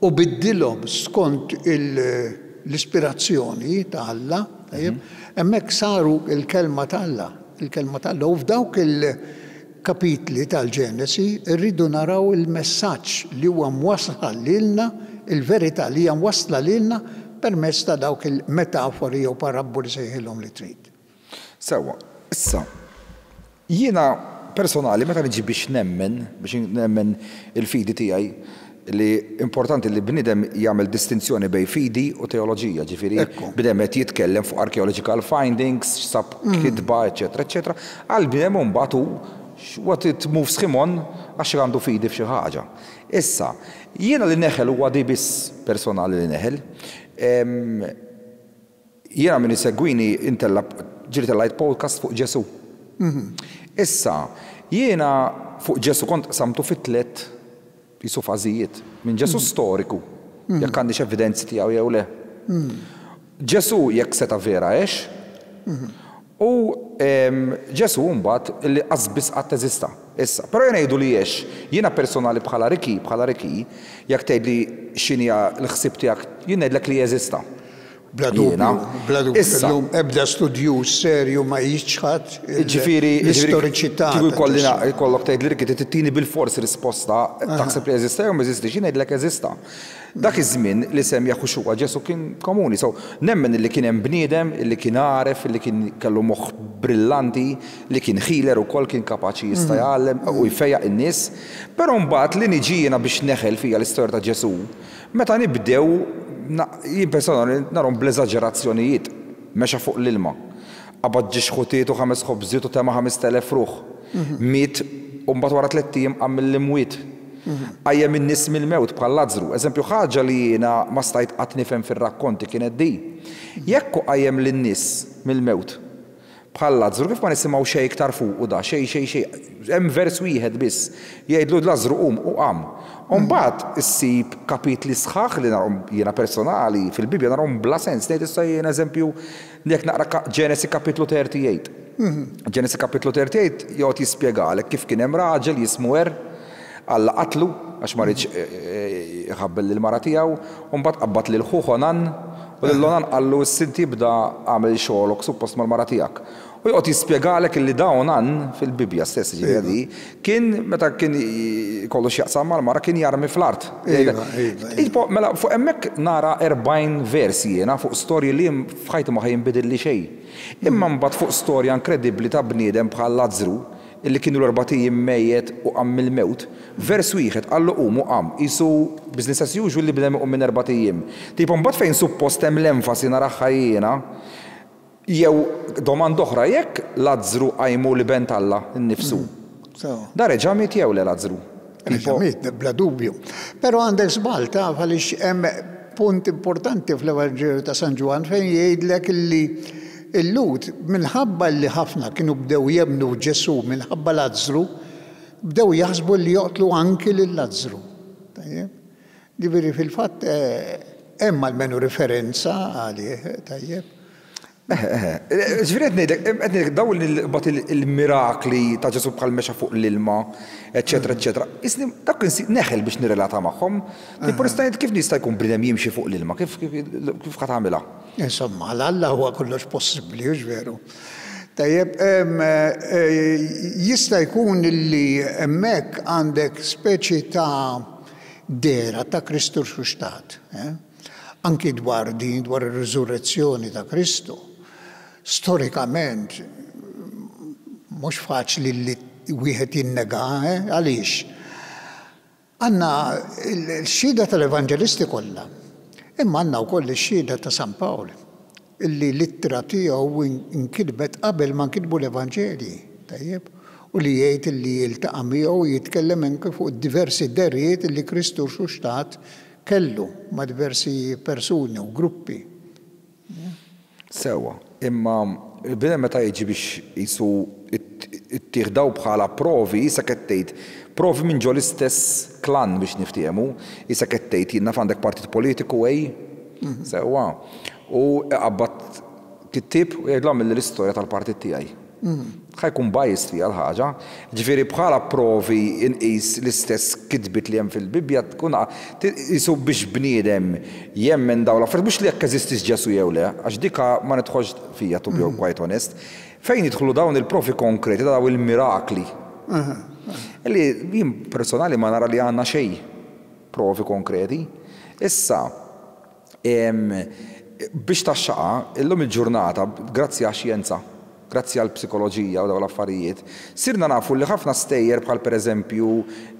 u biddilhom skont l-ispirazzjoni ta' Alla, tajjeb, hemmhekk saru l-kelma ta' Alla, il-kelma ta' Alla. U f'dawk il-kapitli tal-Ġenesi rridu naraw il-messaġġ li huwa mwassal lilna, il-verità li hija mwassla lilna permezz ta' dawk il-metafori jew parabboli sejħilhom li trid. Sewwa, issa, jiena personali meta niġi biex nemmen, biex nemmen il-fidi tiegħi, li importanti li bniedem jagħmel distinzjoni bejn fidi u teoloġija, ġifieri bniedem qed jitkellem fuq archaeological findings, x'sab kitba, eċetera, eċetera. Għal bniedem mbagħad hu what it moves him on għax għandu fidi f'xi ħaġa. Issa, jiena li neħel huwa di biss personali li neħel. Jiena min isegwini intella ġieli tellajt podcast fuq Ġesu. Issa, jiena fuq Ġesu kont qsamtu fi tliet jisu fażijiet. Minn Ġesu storiku, jekk għandix evidenzi tiegħu jew le. Ġesu jekk seta' vera għex, u Ġesu mbagħad li qasbis qatt eżista. Issa, però jien ngħidu li għex, jiena personali bħala Ricky, bħala Ricky, jekk tgħidli x'inhi l-ħsieb tiegħek, jien ngħidlek li jeżista. Bla dubju, bla dubju. Illum ebda studju serju ma jiċħad l-istoriċità. Kieku jkollok tgħid li Ricky tittini bil-forsi risposta taħseb li jeżista jew ma jeżistix, jien ngħidlek eżista. Dak iż-żmien li sem Yahushua Ġesu kien komuni. So nemmen li kien hemm bniedem li kien għaref, li kien kellu moħħ brillanti, li kien healer ukoll kien kapaċi jista' jgħallem u jfejjaq in-nies. Però mbagħad li niġi jiena biex neħel fija l-istorja ta' Ġesu, meta nibdew jien personali narhom bl-eżaġerazzjonijiet, mexa fuq l-ilma. Qabad ġiex ħutiet u ħames ħobżiet u tema' ħames telef ruħ. Miet u mbagħad wara tliet ijiem qam mill-imwiet. Qajjem in-nies mill-mewt bħal Lazzru. Eżempju, ħaġa li jiena ma stajt qatt nifhem fir-rakkonti kienet di. Jekk hu qajjem lin-nies mill-mewt bħal Lazzru, kif ma nisimgħu xejn iktar fuqu da, xejn, xejn, xejn. Hemm vers wieħed biss. Jgħidlu Lazzru qum u qam. U mbagħad issib kapitli sħaħ li narhom jiena personali fil-Bibbja narhom bla sens. Ngħid issa jien eżempju jekk naqra Ġenesi kapitlu tlieta u tletin. Ġenesi kapitlu tlieta u tletin joqgħod jispjegalek kif kien hemm raġel jismu Er, Alla qatlu għax ma riedx iħabbel lill-mara tiegħu, u mbagħad qabad lil ħuh Onan u lil Onan qallu issa inti ibda għamel xogħolok suppost mal-mara tiegħek. U joqgħod jispjegalek illi da Onan fil-Bibbja stess ġifieri kien meta kien kollu x'jaqsam mal-mara kien jarmi fl-art. Iva, iva, iva. Mela fuq hemmhekk nara erbgħin versi jiena fuq storji li f'ħajti ma ħa jinbidilli xejn. Imma mbagħad fuq storja inkredibbli ta' bniedem bħal Lazzru illi kienu l-erbat ijiem mejjet u qam mill-mewt, vers wieħed qallu qum u qam, qisu business as usual li bniedem iqum minn erbat ijiem. Tipo mbagħad fejn suppost hemm l-enfasi naraha jiena, jew domanda oħra, jekk Lazzru qajmu l-iben t'Alla nnifsu. Da reġa' miet jew le Lazzru? Reġa' miet, bla dubju. Però għandek żball taf għaliex hemm punt importanti fl-Evanġelju ta' San Ġwann fejn jgħidlek illi il-Lhud minħabba li ħafna kienu bdew jemmnu Ġesù minħabba Lazzru, bdew jaħsbu li joqtlu anki lil Lazzru. Tajjeb? Ġifieri fil-fatt hemm almenu referenza għalih, tajjeb. Ġifieri qed ngħidlek, qed ngħidlek dawn il- il-mirakli ta' Ġesù bħal mexa fuq l-ilma, eċetera, eċetera. Isni dak neħel biex nirrelata magħhom. Tipo nista' ngħid kif nista' jkun bniedem jimxi fuq l-ilma, kif kif ħa tagħmilha? Insomma, għal Alla huwa kollox possibbli, hux veru? Tajjeb, jista' jkun li hemmhekk għandek speċi ta' dehra ta' Kristu rxuxtat. Anki dwar din, dwar ir-riżurrezzjoni ta' Kristu. Storikament, mhux faċli li wieħed jinnega, għaliex? Għandna l-xhieda tal-evanġelisti kollha, imma għandna wkoll ix-xhieda ta' San Pawl, illi l-ittra tiegħu nkitbet qabel ma nkitbu l-Evanġelji, tajjeb, u li jgħid illi jiltaqa' miegħu jitkellem anke fuq diversi dehriet illi Kristu rxuxtat kellu ma' diversi persuni u gruppi. Sewwa, imma il-bniedem meta jiġi biex qisu ittih daw bħala provi, issa qed tgħid provi minn ġo l-istess klan biex niftehmu, issa qed tgħid jien naf għandek partit politiku ej, sewwa, u iqabbad kittieb u jgħidlu għamilli l-istorja tal-partit tiegħi. Ħa jkun biased fiha l-ħaġa. Ġifieri bħala provi inqis l-istess kitbiet li hemm fil-Bibbja tkun qisu biex bniedem jemmen dawn l-affarijiet, mhux li jekk eżistix Ġesù jew le, għax dika ma nidħolx fija to be quite honest. Fejn jidħlu dawn il-provi konkreti, dawn il-mirakli. Li jien personali ma nara li għandna xejn provi konkreti. Issa, biex taxxaqa, illum il-ġurnata, grazzi għax-xjenza, grazzi għal psikoloġija u dawn l-affarijiet, sirna nafu li ħafna stejjer bħal pereżempju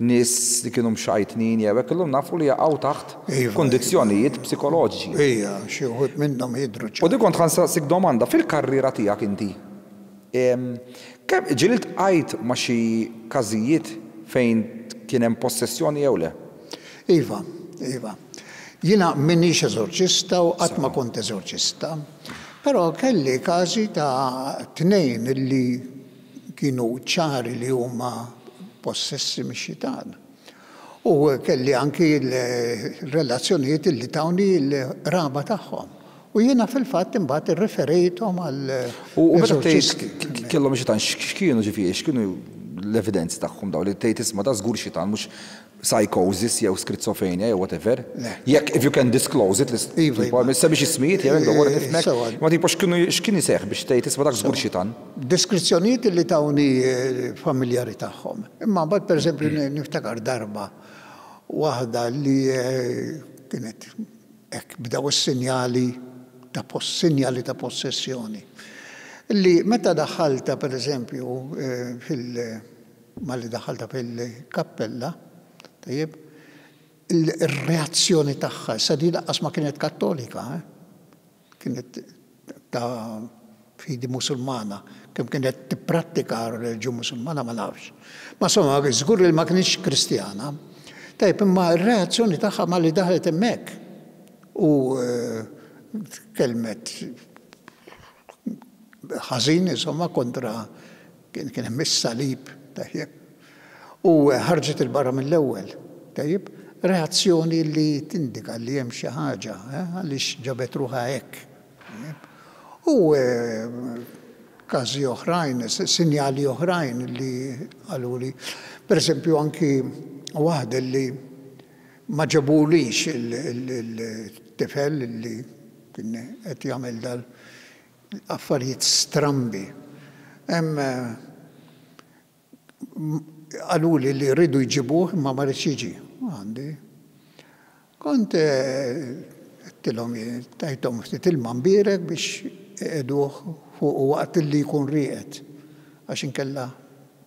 nies li kienu mxajtnin jew hekk illum nafu li jaqgħu taħt kundizzjonijiet psikoloġiċi. Ija, xi wħud minnhom jidhru ċar. U dik kont ħa nsaqsik domanda, fil-karriera tiegħek inti, kemm ġieli ltqajt ma' xi każijiet fejn kien hemm possessjoni jew le? Iva, iva. Jiena m'iniex eżorċista u qatt ma kont eżorċista. Però kelli każi ta' tnejn li kienu ċari li huma possessi mix-xitan. U kelli anki l-relazzjonijiet li tawni l-raba tagħhom. U jiena fil-fatt imbagħad irreferejthom għal U meta tgħid kellhom xitan, x'kienu ġifieri, x'kienu l-evidenzi tagħhom daw li tgħid isma' da żgur xitan mhux psychosis jew schizophrenia jew whatever. Jekk if you can disclose it, Iva, ma semmix ismijiet jew hekk dwar nifhmek. Ma tipo x'kienu x'kien iseħħ biex tgħid isma' dak żgur xitan. Deskrizzjonijiet li tawni familjari tagħhom. Imma mbagħad pereżempju niftakar darba waħda li kienet hekk bdew is-sinjali ta' sinjali ta' possessjoni. Li meta daħħalta pereżempju fil malli daħħalta fil-kappella, tajjeb, il-reazzjoni tagħha, sa di lanqas ma kienet kattolika, kienet ta' fidi musulmana, kemm kienet tipprattika r-reliġjon musulmana ma nafx. Ma insomma, żgur li ma kienx kristjana. Tajb, imma r-reazzjoni tagħha malli daħlet hemmhekk u tkellmet ħażin, insomma, kontra kien hemm is-salib, tajjeb. U ħarġet 'il barra mill-ewwel, tajjeb, reazzjoni li tindika li hemm xi ħaġa, għaliex ġabet ruħha hekk. U każi oħrajn, sinjali oħrajn li qaluli, per eżempju anki waħda li ma ġabulix il-tifel li kien qed jagħmel dal affarijiet strambi. Hemm qaluli li rridu jġibuh imma ma ridx jiġi għandi. Kont għedtilhom, tajthom ftit ilma mbierek biex iqiegħduh fuq waqt li jkun rieqed, għax inkella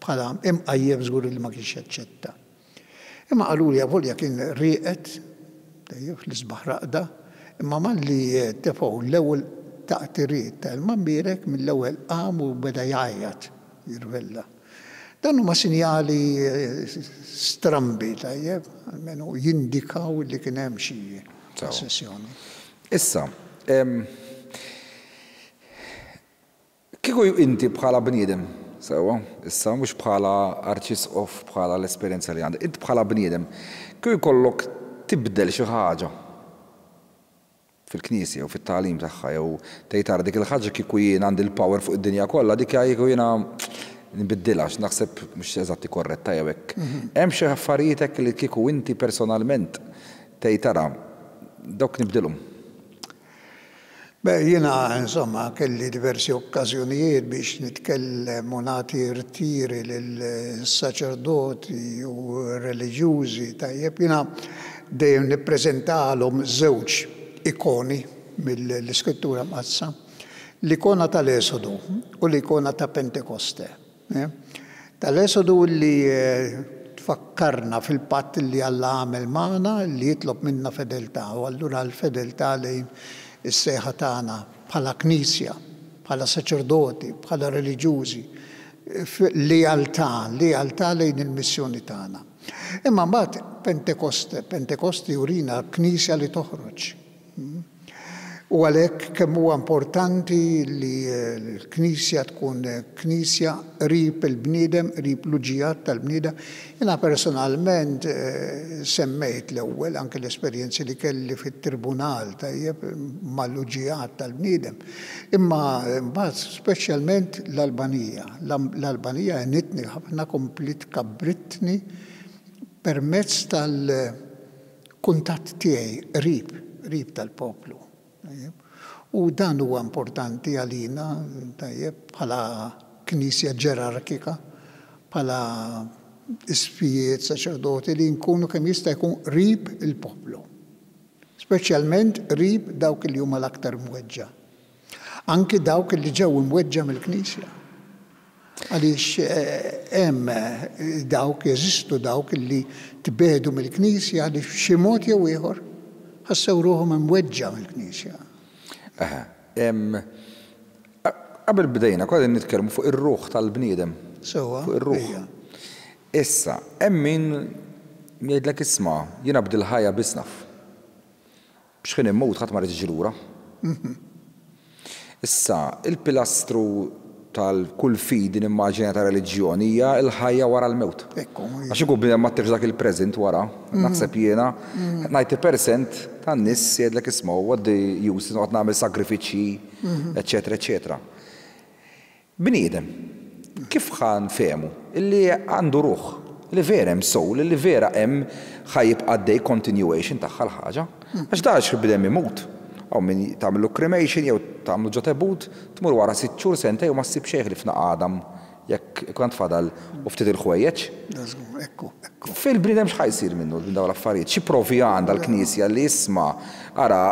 bħala imqajjem żgur li ma kienx jaċċetta. Imma qaluli avolja kien rieqed, tajjeb, fl-isbaħ raqda, imma malli tefgħu l-ewwel taqtiriet ta' ilma mbierek mill-ewwel qam u beda jgħajjat, jirvella. Dan huma sinjali strambi, tajjeb, almenu jindikaw li kien hemm xi possessjoni. Issa, kieku inti bħala bniedem, sewwa, issa mhux bħala arċisqof, bħala l-esperjenza li għandek, inti bħala bniedem, kieku jkollok tibdel xi ħaġa fil-Knisja jew fit-tagħlim tagħha jew tgħid ara dik il-ħaġa kieku jien għandi l-power fuq id-dinja kollha, dik kieku jiena nbiddilha għax naħseb mhux eżatti korretta jew hekk. Hemm xi affarijiet hekk li kieku inti personalment tgħid ara dawk nibdilhom? Beh, jiena insomma kelli diversi okkażjonijiet biex nitkellem u nagħti rtiri lil-saċerdoti u reliġjużi, tajjeb, jiena dejjem nippreżentalhom żewġ ikoni mill-Iskrittura Mqaddsa, l-ikona tal-Esodu u l-ikona ta' Pentekoste. Tal-Esodu li tfakkarna fil-patt li Alla għamel magħna li jitlob minna fedeltà, u allura l-fedeltà lejn is-sejħa tagħna bħala Knisja, bħala saċerdoti, bħala reliġjużi, lealtà, lealtà lejn il-missjoni tagħna. Imma mbagħad Pentekoste, Pentekoste jurina Knisja li toħroġ. U għalhekk kemm huwa importanti li l-Knisja tkun Knisja qrib il-bniedem, qrib l-uġigħat tal-bniedem. Jiena personalment semmejt l-ewwel anke l-esperjenzi li kelli fit-tribunal, tajjeb, mal-uġigħat tal-bniedem. Imma mbagħad speċjalment l-Albanija. L-Albanija għenitni ħafna, komplet kabbritni permezz tal-kuntatt tiegħi qrib, qrib tal-poplu. U dan huwa importanti għalina, tajjeb, bħala Knisja ġerarkika, bħala isqfijiet, saċerdoti, li nkunu kemm jista' jkun qrib il-poplu. Speċjalment qrib dawk li huma l-aktar mweġġa. Anki dawk li ġew imweġġa mill-Knisja. Għaliex hemm dawk, jeżistu dawk li tbedu mill-Knisja li f'xi mod jew ieħor ħassew ruħhom imweġġa mill-Knisja. Aha. Qabel bdejna, kważi nitkellmu fuq ir-ruħ tal-bniedem. Sewwa. Fuq ir-ruħ. Issa, hemm min jgħidlek isma', jiena bdil ħajja biss naf. Biex ħin immut ħadd ma rid jiġi lura. Issa, il-pilastru tal-kull fidi nimmaġina ta' reliġjoni hija l-ħajja wara l-mewt. Għax ikun bniedem ma ttirx dak il-present wara, naħseb jiena, ninety percent tan-nies jgħidlek isma' what the use, noqgħod nagħmel sagrifiċċji, eċetera, eċetera. Bniedem, kif ħa nfehmu illi għandu ruħ, li vera hemm soul, li vera hemm ħa jibqa' għaddej continuation tagħha l-ħaġa? Għax da għax bniedem imut. Hawn min tagħmlu cremation jew tagħmlu ġo tebut, tmur wara sitt xhur sentejn u ma ssib xejn ħlief naqadam jekk ikun tfadal u ftit il-ħwejjeġ. Ekku, ekku. Fil-bniedem x'ħa jsir minnu minn dawn l-affarijiet? Xi provi għandha l-Knisja li isma' ara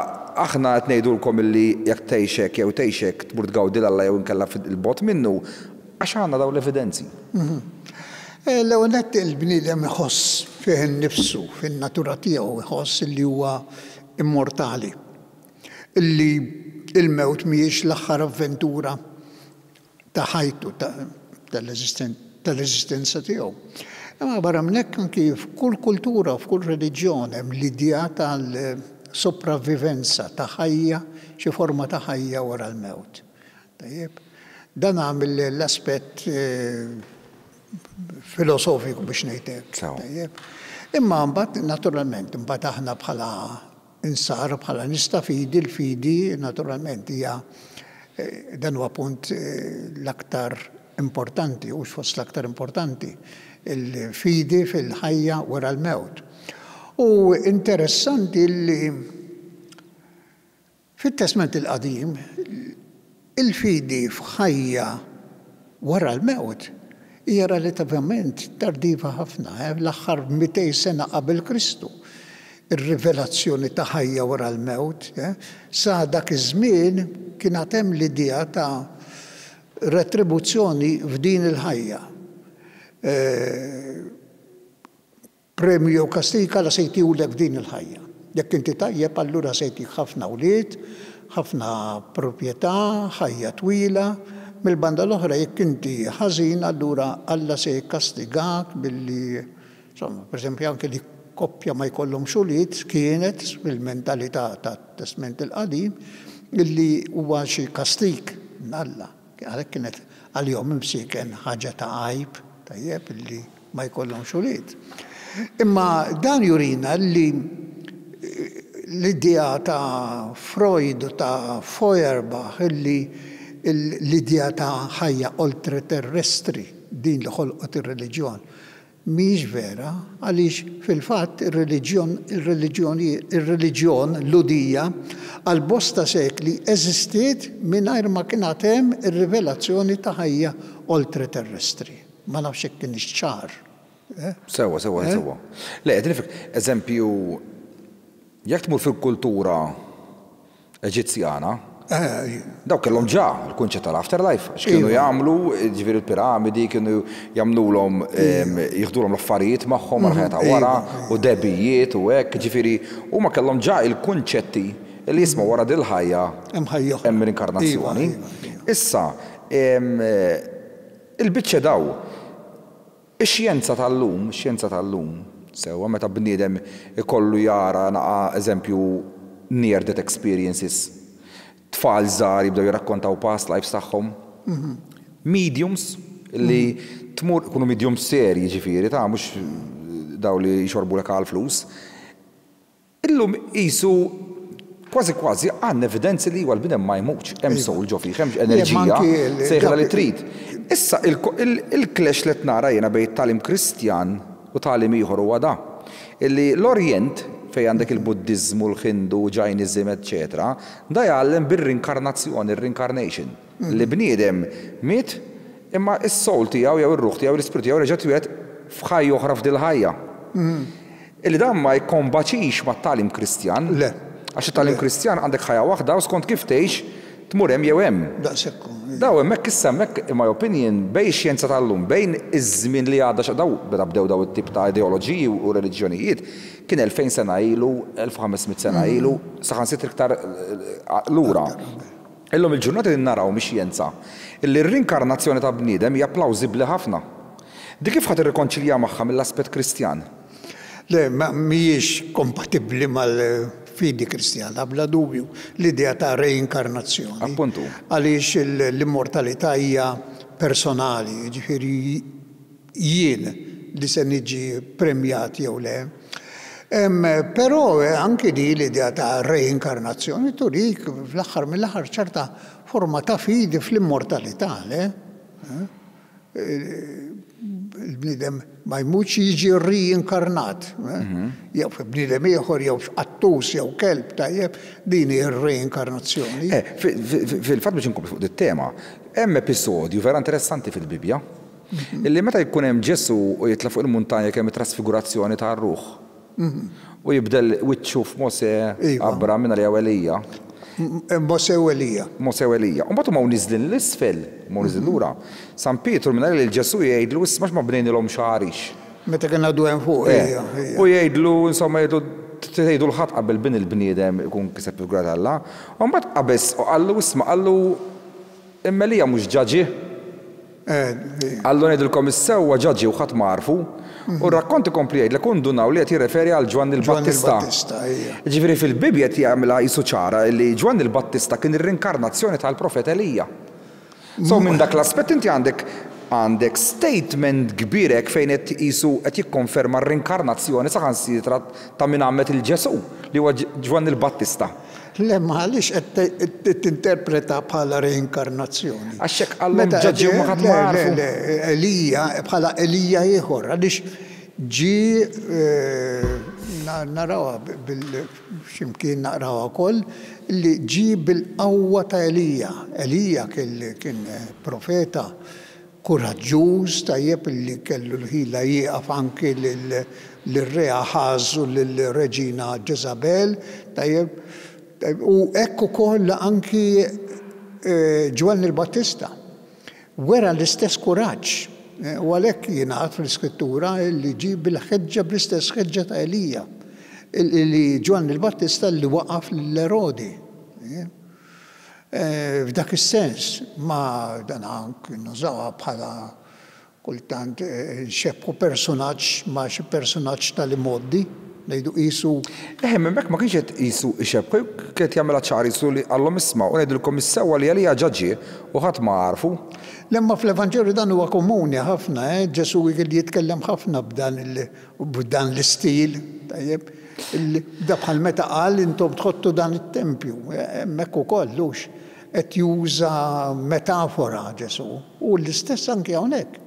aħna qed ngħidulkom illi jekk tgħix hekk jew tgħix hekk tmur tgawdi 'l Alla jew inkella fil-bogħod minnu, għax għandna dawn l-evidenzi. L-ewwel nett il-bniedem iħoss fih innifsu, fin-natura tiegħu iħoss li huwa immortali. Illi il-mewt mhijiex l-aħħar avventura ta' ħajtu, tal-eżistenza tiegħu. Imma barra minn hekk anki f'kull kultura, f'kull reliġjon hemm l-idea tal-sopravvivenza ta' ħajja, xi forma ta' ħajja wara l-mewt. Tajjeb. Dan għamil l-aspett filosofiku biex ngħidlek. Tajjeb. Imma mbagħad naturalment imbagħad aħna bħala insara, bħala nies ta' fidi, l-fidi naturalment hija dan huwa punt l-aktar importanti, u fost l-aktar importanti, il-fidi fil-ħajja wara l-mewt. U interessanti li fit-Testament il-Qadim il-fidi f'ħajja wara l-mewt hija relativament tardiva ħafna, l-aħħar mitejn sena qabel Kristu. Ir-rivelazzjoni ta' ħajja wara l-mewt, sa dak iż-żmien kien hemm l-idea ta' retribuzzjoni f'din il-ħajja. Premju jew kastika la se jtihulek f'din il-ħajja. Jekk inti tajjeb allura se jtik ħafna wlied, ħafna proprjetà, ħajja twila. Mill-banda l-oħra jekk inti ħażin allura Alla se jikkastigak billi, insomma, pereżempju anke li koppja ma jkollhomx ulied kienet fil-mentalità tat-Testament il-Qadim illi huwa xi kastik minn Alla. Għalhekk kienet għalihom imsieken ħaġa ta' għajb, tajjeb, illi ma jkollhomx ulied. Imma dan jurina li l-idea ta' Freud u ta' Feuerbach illi l-idea ta' ħajja oltreterrestri din li ħolqot ir-reliġjon mhijiex vera, għaliex fil-fatt ir-reliġjon ir-reliġjon Lhudija għal bosta sekli eżistiet mingħajr ma kien hemm ir-rivelazzjoni ta' ħajja oltreterrestri. Ma nafx hekk kienx ċar. Sewwa, sewwa, sewwa. Le, qed nifhmek, eżempju, jekk tmur fil-kultura Eġizzjana, daw kellhom ġa l-kunċett tal-afterlife, għax kienu jagħmlu, ġifieri l-piramidi, kienu jagħmlulhom jieħdulhom l-affarijiet magħhom għal-ħajja ta' wara, u debijiet u hekk, ġifieri huma kellhom ġa il-kunċetti li jisma' wara dil-ħajja hemm l-inkarnazzjoni. Issa, il-biċċa daw, ix-xjenza tal-lum, ix-xjenza tal-lum, sewwa meta bniedem ikollu jara naqa' eżempju near death experiences, tfal żgħar jibdew jirrakkontaw past lives tagħhom. Mediums li tmur ikunu mediums serji ġifieri ta' mhux daw li jxorbulek għal flus. Illum qisu kważi kważi għandna evidenzi li huwa l-bniedem ma jmutx, hemm soul ġo fih, hemm enerġija sejħilha li trid. Issa il-clash li qed nara jiena bejn tagħlim Kristjan u tagħlim ieħor huwa da. Illi l-Orjent fej għandek il-Buddizmu, l-Hindu, Jainism, eccetera, da jgħallem bir-rinkarnazzjoni, il-reincarnation. Li bniedem miet, imma is-soul tiegħu jew ir-ruħ tiegħu, l-ispirtu tiegħu reġa' twieled f'ħajja oħra f'dil ħajja. Illi dan ma jkombaċix mat-tagħlim Kristjan. Le. Għax it-tagħlim Kristjan għandek ħajja waħda u skont kif tgħix tmur hemm jew hemm. Daqshekk. Daw hemmhekk issa hemmhekk in my opinion bejn ix-xjenza tal-lum, bejn iż-żmien li għadda daw beda bdew daw it-tip ta' ideoloġiji u reliġjonijiet, kien elfejn sena ilu, elf u ħames mitt sena ilu, saħansitra iktar lura. Illum il-ġurnata li naraw mix-xjenza illi r-rinkarnazzjoni ta' bniedem hija plawsibbli ħafna. Dik kif ħadd irrikonċilja magħha mill-aspett Kristjan? Le, ma mhijiex kompatibbli mal-fidi Kristjana, bla dubju, l-idea ta' reinkarnazzjoni. Appuntu. Għaliex l-immortalità hija personali, ġifieri jien li se niġi premjat jew le. Però anki di l-idea ta' reinkarnazzjoni turik fl-aħħar mill-aħħar ċerta forma ta' fidi fl-immortalità, le? Il-bniedem ma jmutx jiġi reinkarnat. Jew bniedem ieħor, jew qattus, jew kelb, tajjeb, din hi r-reinkarnazzjoni. Fil-fatt biex inkompli fuq dit-tema, hemm episodju vera interessanti fil-Bibbja, illi meta jkun hemm Ġesu u jitla' fuq il-muntanja kemm it-trasfigurazzjoni tar-ruħ. U jibdel wiċċu f'Mose, Abram, minn jew Elija. Mose u Elija. Mose u Elija. U mbagħad huma niżlin l-isfel, huma niżlin lura. San Pietru minn lil Ġesu jgħidlu isma' ma bnejnilhom xagħrix. Meta kien għadu hemm fuq, ejja, ejja. U jgħidlu, insomma, jgħidlu tgħidu l-ħadd qabel bin il-bniedem ikun kiseb il-grad Alla. U mbagħad qabeż u qallu isma' qallu imma Elija mhux ġaġi. Qallu ngħidilkom is-sewwa ġaġi u ħadd ma għarfu. U r-rakkont ikompli jgħidlek u ndunaw li qed jirreferi għal Ġwanni l-Battista. Ġifieri fil-Bibbja qed jagħmilha qisu ċara li Ġwanni l-Battista kien ir-rinkarnazzjoni tal-profeta Elija. So minn dak l-aspett inti għandek għandek statement kbir hekk fejn qed qisu qed jikkonferma r-rinkarnazzjoni saħansitra ta' min għammed 'il Ġesù, li huwa Ġwanni l-Battista. Le, ma għaliex qed tinterpreta bħala reinkarnazzjoni? Għax hekk qallhom ġa ġie u ma ħadd ma għarfu. Le, le, Elija bħala Elija ieħor, għaliex ġie, narawha x'imkien naqrawha wkoll, li ġie bil-qawwa ta' Elija. Elija kien profeta kuraġġuż, tajjeb, li kellu l-ħila jieqaf anki lir-re Aħaż u lill-reġina Ġeżabel, tajjeb, u hekk ukoll anki Ġwanni l-Battista wera l-istess kuraġġ. U għalhekk jingħad fl-Iskrittura li ġie bil-ħeġġa, bl-istess ħeġġa ta' Elija, li Ġwanni l-Battista li waqaf lil Erodi. F'dak is-sens, ma dan anki nużawha bħala kultant nxebbħu personaġġ ma' xi personaġġ tal-imgħoddi, ngħidu qisu. Eħe, minn hekk ma kienx qed qisu ixebbħu, kien qed jagħmilha ċar qisu li qallhom isma' u ngħidilkom is-sewwa li Elija ġa ġie u ħadd ma għarfu. Le, imma fl-Evanġelju dan huwa komuni ħafna, eh? Ġesù kien jitkellem ħafna b'dan b'dan l-istil, tajjeb. Da bħal meta qal intom tħottu dan it-tempju, hemmhekk ukoll hux qed juża metafora Ġesù. U l-istess anki hawnhekk.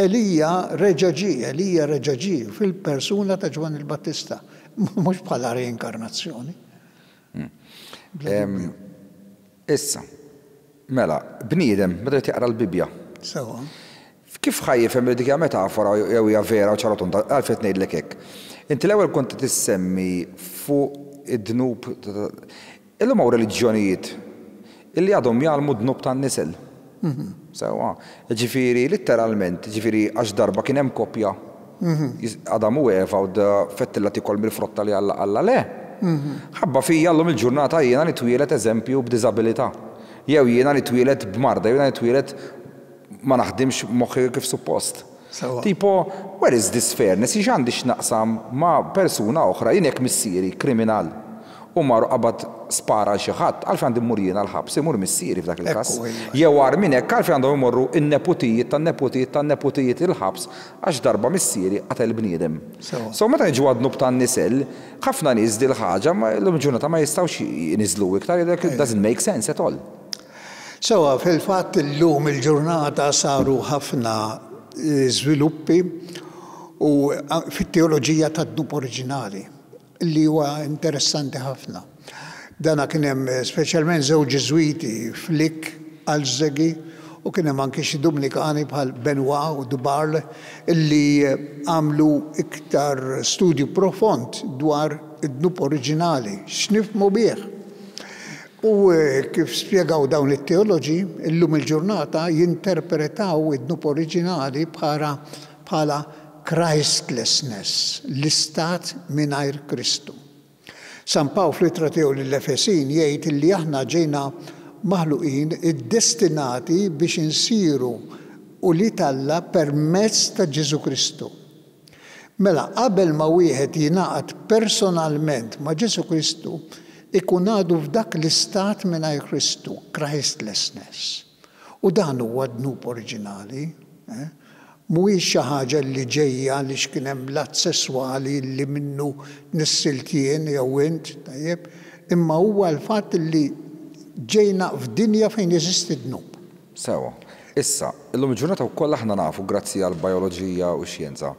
Elija reġa' ġie, Elija reġa' ġie fil-persuna ta' Ġwanni l-Battista, mhux bħala reinkarnazzjoni. Issa, mela, bniedem, meta qed jaqra l-Bibbja. Sewwa. Kif ħa jifhem li dik hija metafora jew hija vera u ċara tonda, għalfejn qed ngħidlek hekk. Inti l-ewwel kont qed issemmi fuq id-dnub. Illum hawn reliġjonijiet illi għadhom jgħallmu d-dnub tan-nisel. Sewwa. Ġifieri litteralment, ġifieri għax darba kien hemm koppja, Adam u Eva, u fettilla tikol mill-frotta li Alla Alla le. Ħabba fija llum il-ġurnata jiena nitwielet eżempju b'diżabilità. Jew jiena nitwielet b'marda, jew jiena nitwielet ma naħdimx moħħi kif suppost. Tipo, where is this fairness? Jien għandi x'naqsam ma' persuna oħra, jien jekk missieri kriminal u mar qabad spara xi ħadd, għalfejn għandi mmur jiena l-ħabs, imur missieri f'dak il-każ. Jew agħar minn hekk, għalfejn għandhom imorru in-neputijiet tan-neputijiet tan-neputijiet il-ħabs għax darba missieri qatel bniedem. So meta niġu għad-dnub tan-nisel, ħafna nies dil-ħaġa llum il-ġurnata ma jistgħux jniżlu iktar, jgħidlek it doesn't make sense at all. Sewwa, fil-fatt illum il-ġurnata saru ħafna żviluppi u fit-teoloġija tad-dnub oriġinali li huwa interessanti ħafna. Dana kien hemm speċjalment żewġ Ġiżwiti, Flick, Alzegi, u kien hemm anki xi Dominikani bħal Benoit u Dubarle illi għamlu iktar studju profond dwar id-dnub oriġinali, x'nifhmu bih. U kif spjegaw dawn it-teoloġi, illum il-ġurnata jinterpretaw id-dnub oriġinali bħala bħala Christlessness, l-istat mingħajr Kristu. San Pawl fl-ittra tiegħu lill-Efesin jgħid li aħna ġejna maħluqin iddestinati biex insiru ulied Alla permezz ta' Ġesù Kristu. Mela, qabel ma wieħed jingħaqad personalment ma' Ġesù Kristu, ikun għadu f'dak l-istat mingħajr Kristu, Christlessness. U dan huwa dnub oriġinali. Eh? Mhuwiex xi ħaġa li ġejja li x'kien hemm l-att sesswali li minnu tnissilt jien jew int, tajjeb, imma huwa l-fatt li ġejna f'dinja fejn jeżisti dnub. Sewwa. Issa, illum il-ġurnata wkoll aħna nafu grazzi għall-bijoloġija u x-xjenza,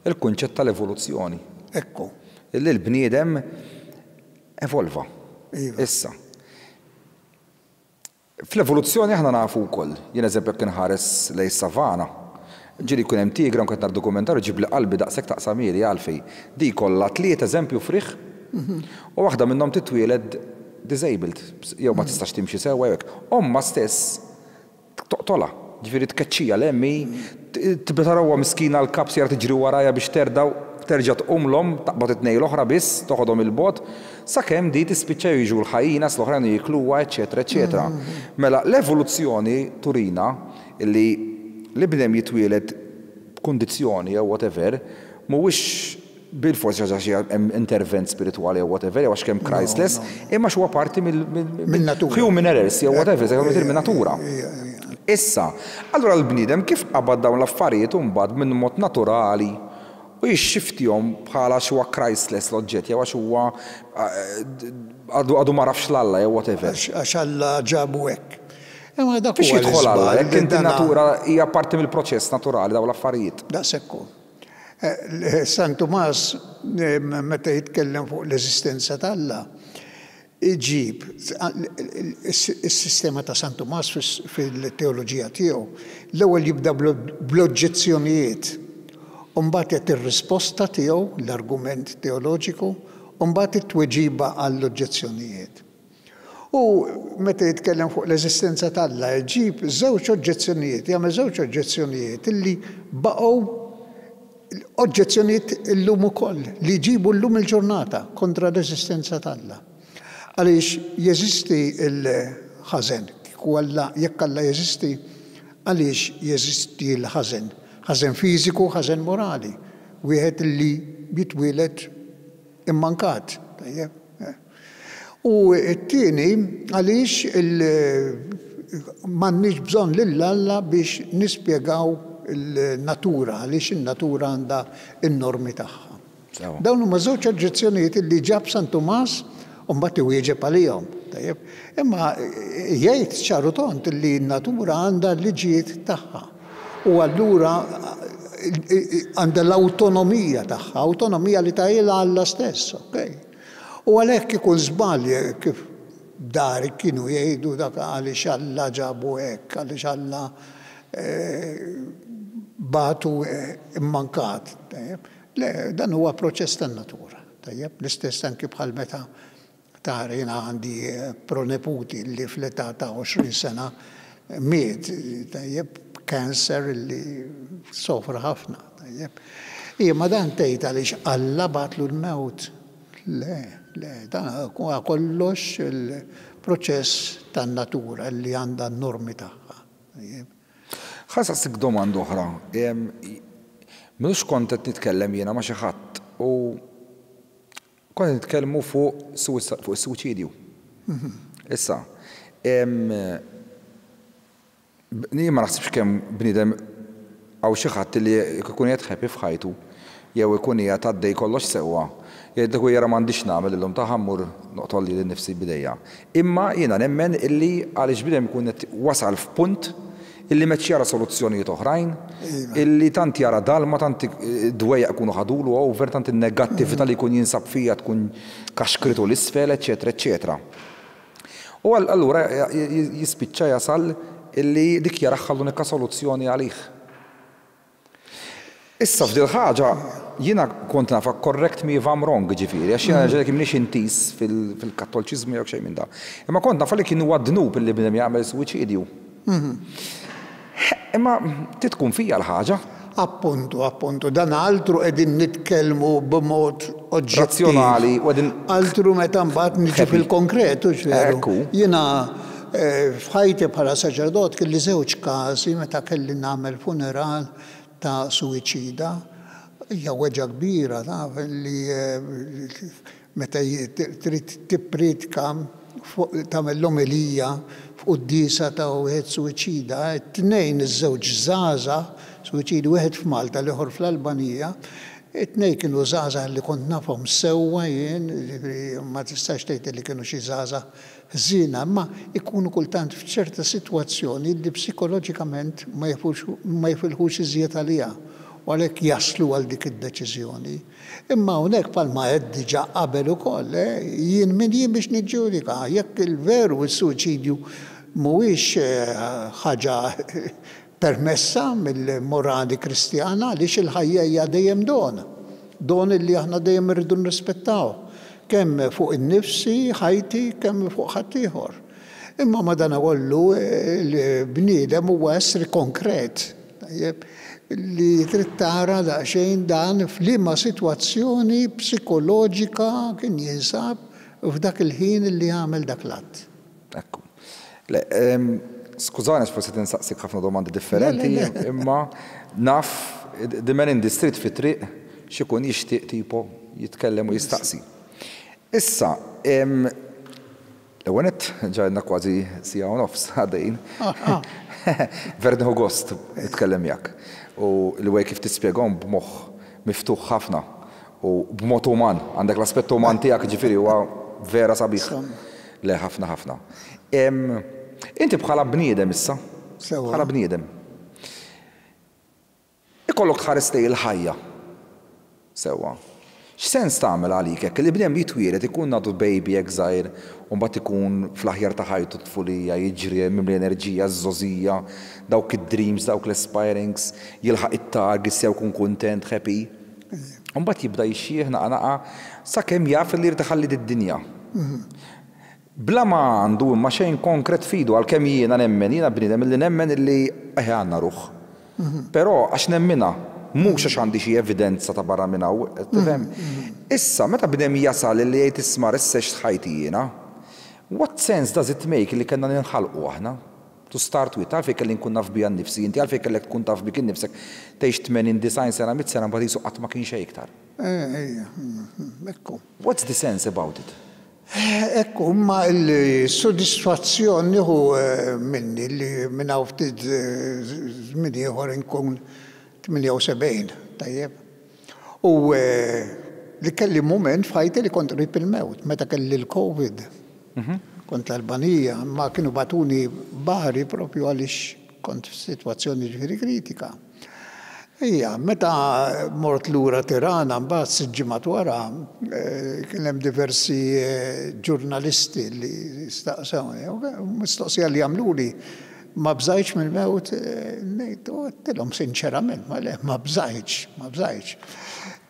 il-kunċett tal-evoluzzjoni. Ekku. Illi l-bniedem evolva. Iva. Issa. Fl-evoluzzjoni aħna nafu wkoll, jien eżempju jekk inħares lejn savana, ġieli jkun hemm tigra nkun qed nara dokumentarju ġibli qalbi daqshekk taqsamieli għalfejn. Di kollha tliet eżempju friħ u waħda minnhom titwieled disabled, jew ma tistax timxi sewwa jew hekk. Omma stess toqtolha, ġifieri tkeċċija l-emmi, tibda tarawha miskina l-kap sejra tiġri warajha biex terda terġa' tqum l-omm, taqbad it-tnejn l-oħra biss, toħodhom il-bogħod, sakemm di tispiċċa jiġu l-ħajjinas l-oħrajn jikluha, eċetera, eċetera. Mela l-evoluzzjoni turina li l-bniedem jitwieled b'kundizzjoni jew whatever, mhuwiex bilfors għax hemm intervent spiritwali jew whatever, jew għax kemm Christless, imma huwa parti mill-natura. Human errors jew whatever, se minn natura. Issa, allura l-bniedem kif qabad dawn l-affarijiet u mbagħad minn mod naturali u jixxiftihom bħala xi Christless l-oġġett jew għax huwa għadu għadu ma rafx l-Alla jew whatever? Għax Alla ġabu hekk. Imma dak huwa jidħol Alla, jekk inti natura hija parti mill-proċess naturali dawn l-affarijiet. Daqshekk hu. San Tumas, meta jitkellem fuq l-eżistenza t'Alla, iġib is-sistema ta' San Tumas fil-teoloġija tiegħu. L-ewwel jibda bl-oġġezzjonijiet, u mbagħad jagħti ir-risposta tiegħu, l-argument teoloġiku, u mbagħad it-tweġiba għall-oġġezzjonijiet. U meta jitkellem fuq l-eżistenza t'Alla, jġib żewġ oġġezzjonijiet, jagħmel żewġ oġġezzjonijiet illi baqgħu oġġezzjonijiet illum ukoll, li jġibu llum il-ġurnata kontra l-eżistenza t'Alla. Għaliex jeżisti l-ħażen? Kieku Alla, jekk Alla jeżisti, għaliex jeżisti l-ħażen? Ħażen fiżiku, ħażen morali. Wieħed li jitwieled immankat. Tajjeb. U t-tieni, għaliex m'għandniex bżonn lil Alla biex nispjegaw il-natura, għaliex in-natura għandha n-normi tagħha? Dawn huma żewġ oġġezzjonijiet li ġab San Tumas u mbagħad iwieġeb għalihom. Tajjeb. Imma jgħid ċaru tont li n-natura għandha l-liġijiet tagħha. U allura għandha l-awtonomija tagħha, awtonomija li tajla Alla stess, okej. U għalhekk ikun żball kif dari kienu jgħidu dak għaliex Alla ġabu hekk, għaliex Alla batu immankat. Le, dan huwa proċess tan-natura. Tajjeb, l-istess anki bħal meta tara jiena għandi proneputi li fl-età ta' għoxrin sena miet, tajjeb, cancer li sofra ħafna, tajjeb. Ija, ma dan tgħid għaliex Alla bagħatlu l-mewt. Le, le, dan huwa kollox il-proċess tan-natura li għandha n-normi tagħha. Tajjeb. Ħa nsaqsik domanda oħra. M'ilux kont qed nitkellem jiena ma' xi ħadd u kont qed nitkellmu fuq fuq is-suwiċidju. Issa, jien ma naħsibx kemm bniedem hawn xi ħadd li jkun qed happy f'ħajtu jew ikun qiegħed għaddej kollox sewwa. Jgħidlek u jara m'għandix nagħmel illum ta' ħammur noqtol lili nnifsi b'idejja. Imma jiena nemmen illi għaliex bniedem ikun qed wasal f'punt illi meċ jara soluzzjonijiet oħrajn, illi tant jara dalma, tant dwejjaq ikunu ħadulu over, tant in-negattività li jkun jinsab fija tkun kaxkritu l-isfel, eċetera, eċetera. U allura jispiċċa jasal illi dik jaraħħa l-unika soluzzjoni għalih. Issa f'dil ħaġa jiena kont nafa, correct me if I'm wrong, ġifieri, għax jiena ġelek m'iniex intiż fil-kattoliċiżmu jew xejn minn da. Imma kont nafa li kien huwa dnub illi bniedem jagħmel suwiċidju. Imma titkun fija l-ħaġa. Appuntu, appuntu, dan altru qegħdin nitkellmu b'mod oġġettiv. Razzjonali, u qegħdin Altru meta mbagħad niġu fil-konkret, hux veru? Ekku. Jiena f'ħajti bħala saċerdot kelli żewġ każi meta kelli nagħmel funeral ta' suwiċida. Hija weġgħa kbira, taf, li meta trid tippriedka tagħmel l-omelija f'quddiesa ta' wieħed suwiċida, it-tnejn iż-żewġ żgħażagħ suwiċidi, wieħed f'Malta, l-ieħor fl-Albanija, it-tnejn kienu żgħażagħ li kont nafhom sewwa jien, jiġifieri ma tistax tgħid li kienu xi żgħażagħ ħżiena, imma ikunu kultant f'ċerta sitwazzjoni li psikoloġikament ma jifilħux iżjed għaliha u għalhekk jaslu għal dik id-deċiżjoni. Imma hawnhekk bħalma għedt diġà qabel ukoll, jien min jien biex niġġudika jekk il-veru s-suwiċidju mhuwiex ħaġa permessa mill-morali kristjana, għaliex il-ħajja hija dejjem don, don li aħna dejjem irridu nrispettaw, kemm fuq in-nifsi, ħajti, kemm fuq ħaddieħor. Imma madanakollu l-bniedem huwa essri konkret, tajjeb, li trid tara daqsxejn dan f'liema sitwazzjoni psikoloġika kien jinsab f'dak il-ħin li għamel dak l-att. Ekku. Le, skużani forsi tinsaqsik ħafna domandi differenti, imma naf the man in the street fit-triq X'ikun jixtieq tipo jitkellem u jistaqsi. Issa, l-ewwel nett ġajna kważi siegħa u nofs għaddejjin. Ver nieħu gost nitkellem miegħek. U l-way kif tispjegahom b'moħħ miftuħ ħafna u b'mod uman, għandek l-aspett uman tiegħek, ġifieri huwa vera sabiħ. Le, ħafna ħafna. Inti bħala bniedem issa, bħala bniedem, ikollok tħares lejn il-ħajja. Sewwa. X'sens tagħmel għalik hekk li bniedem jitwieled, ikun għadu baby hekk żgħir, u mbagħad ikun fl-aħjar ta' ħajtu, tfulija, jiġri mimli enerġija, żgħożija, dawk id-dreams, dawk l-aspirings, jilħaq it-targets jew jkun kuntent, happy. U mbagħad jibda jixjieħ naqa naqa sakemm jaf li jrid iħalli d-dinja. Bla ma għandu imma xejn konkret f'idu, għalkemm jiena nemmen, jiena bniedem illi nemmen illi eħe għandna ruħ. Però għax nemminha, mhux għax għandi xi evidenza ta' barra minn hawn, tifhem? Issa, meta bniedem jasal li jgħid, "Isma', issa ħajti jiena," what sense does it make li kellna ninħalqu aħna? To start with, għalfejn kelli nkun naf bija nnifsi, inti għalfejn kellek tkun taf bik innifsek, tgħix tmenin, disgħin sena, mitt sena, mbagħad qisu qatt ma kien xejn iktar. Ejja, ekku. What's the sense about it? Ekku, ma l-sodisfazzjon nieħu minni li minn hawn ftit żmien ieħor inkun tmienja u sebgħin, tajjeb. U li kelli moment f'ħajti li kont qrib il-mewt, meta kelli l-Covid. Kont l-Albanija, ma kienu bagħtuni Bari propju għaliex kont f'sitwazzjoni ġifieri kritika. Ija, meta mort lura Tirana, mbagħad sitt ġimgħat wara, kien hemm diversi ġurnalisti li staqsewni, mistoqsija li għamluli, "Ma bżajtx mill-mewt?" Ngħid, u għedtilhom sinċerament, ma le, ma bżajtx, ma bżajtx.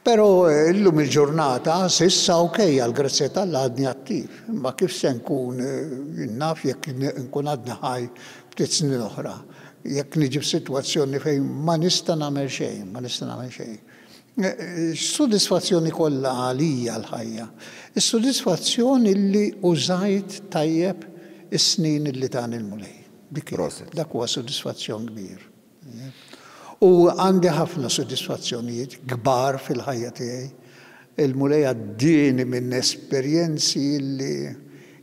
Però illum il-ġurnata, s'issa ok, għal-grazzja t'Alla għadni attiv. Ma kif se nkun, naf jekk nkun għadni ħaj ftit snin oħra? Jekk niġi f'sitwazzjoni fejn ma nista' nagħmel xejn, ma nista' nagħmel xejn. Sodisfazzjoni kollha għalija l-ħajja. Is-sodisfazzjoni li użajt tajjeb is-snin li tani l-Mulej. Dik dak huwa sodisfazzjon kbir. U għandi ħafna sodisfazzjonijiet kbar fil-ħajja tiegħi. Il-Mulej għaddieni minn esperjenzi li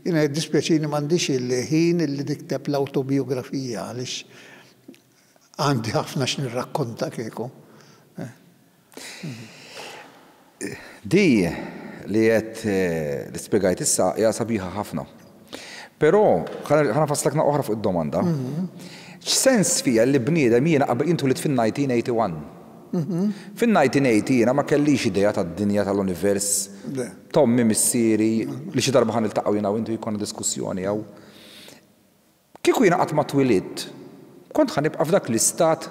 jiena jiddispjaċini m'għandix il-ħin li nikteb l-autobiografija, għaliex għandi ħafna x'nirrakkonta kieku. Di li qed li spjegajt issa hija sabiħa ħafna. Però ħa nfasslek oħra fuq id-domanda. X'sens fija li bniedem, jiena qabel intu li fil-elf disa' mija u wieħed u tmenin. Fil-elf disa' mija u tmenin jiena ma kellix idea tad-dinja, tal-univers. T'ommi, missieri, li xi darba ħa niltaqgħu jiena u intu, jkollna diskussjoni jew. Kieku jiena qatt ma twilidt, kont ħa nibqa' f'dak l-istat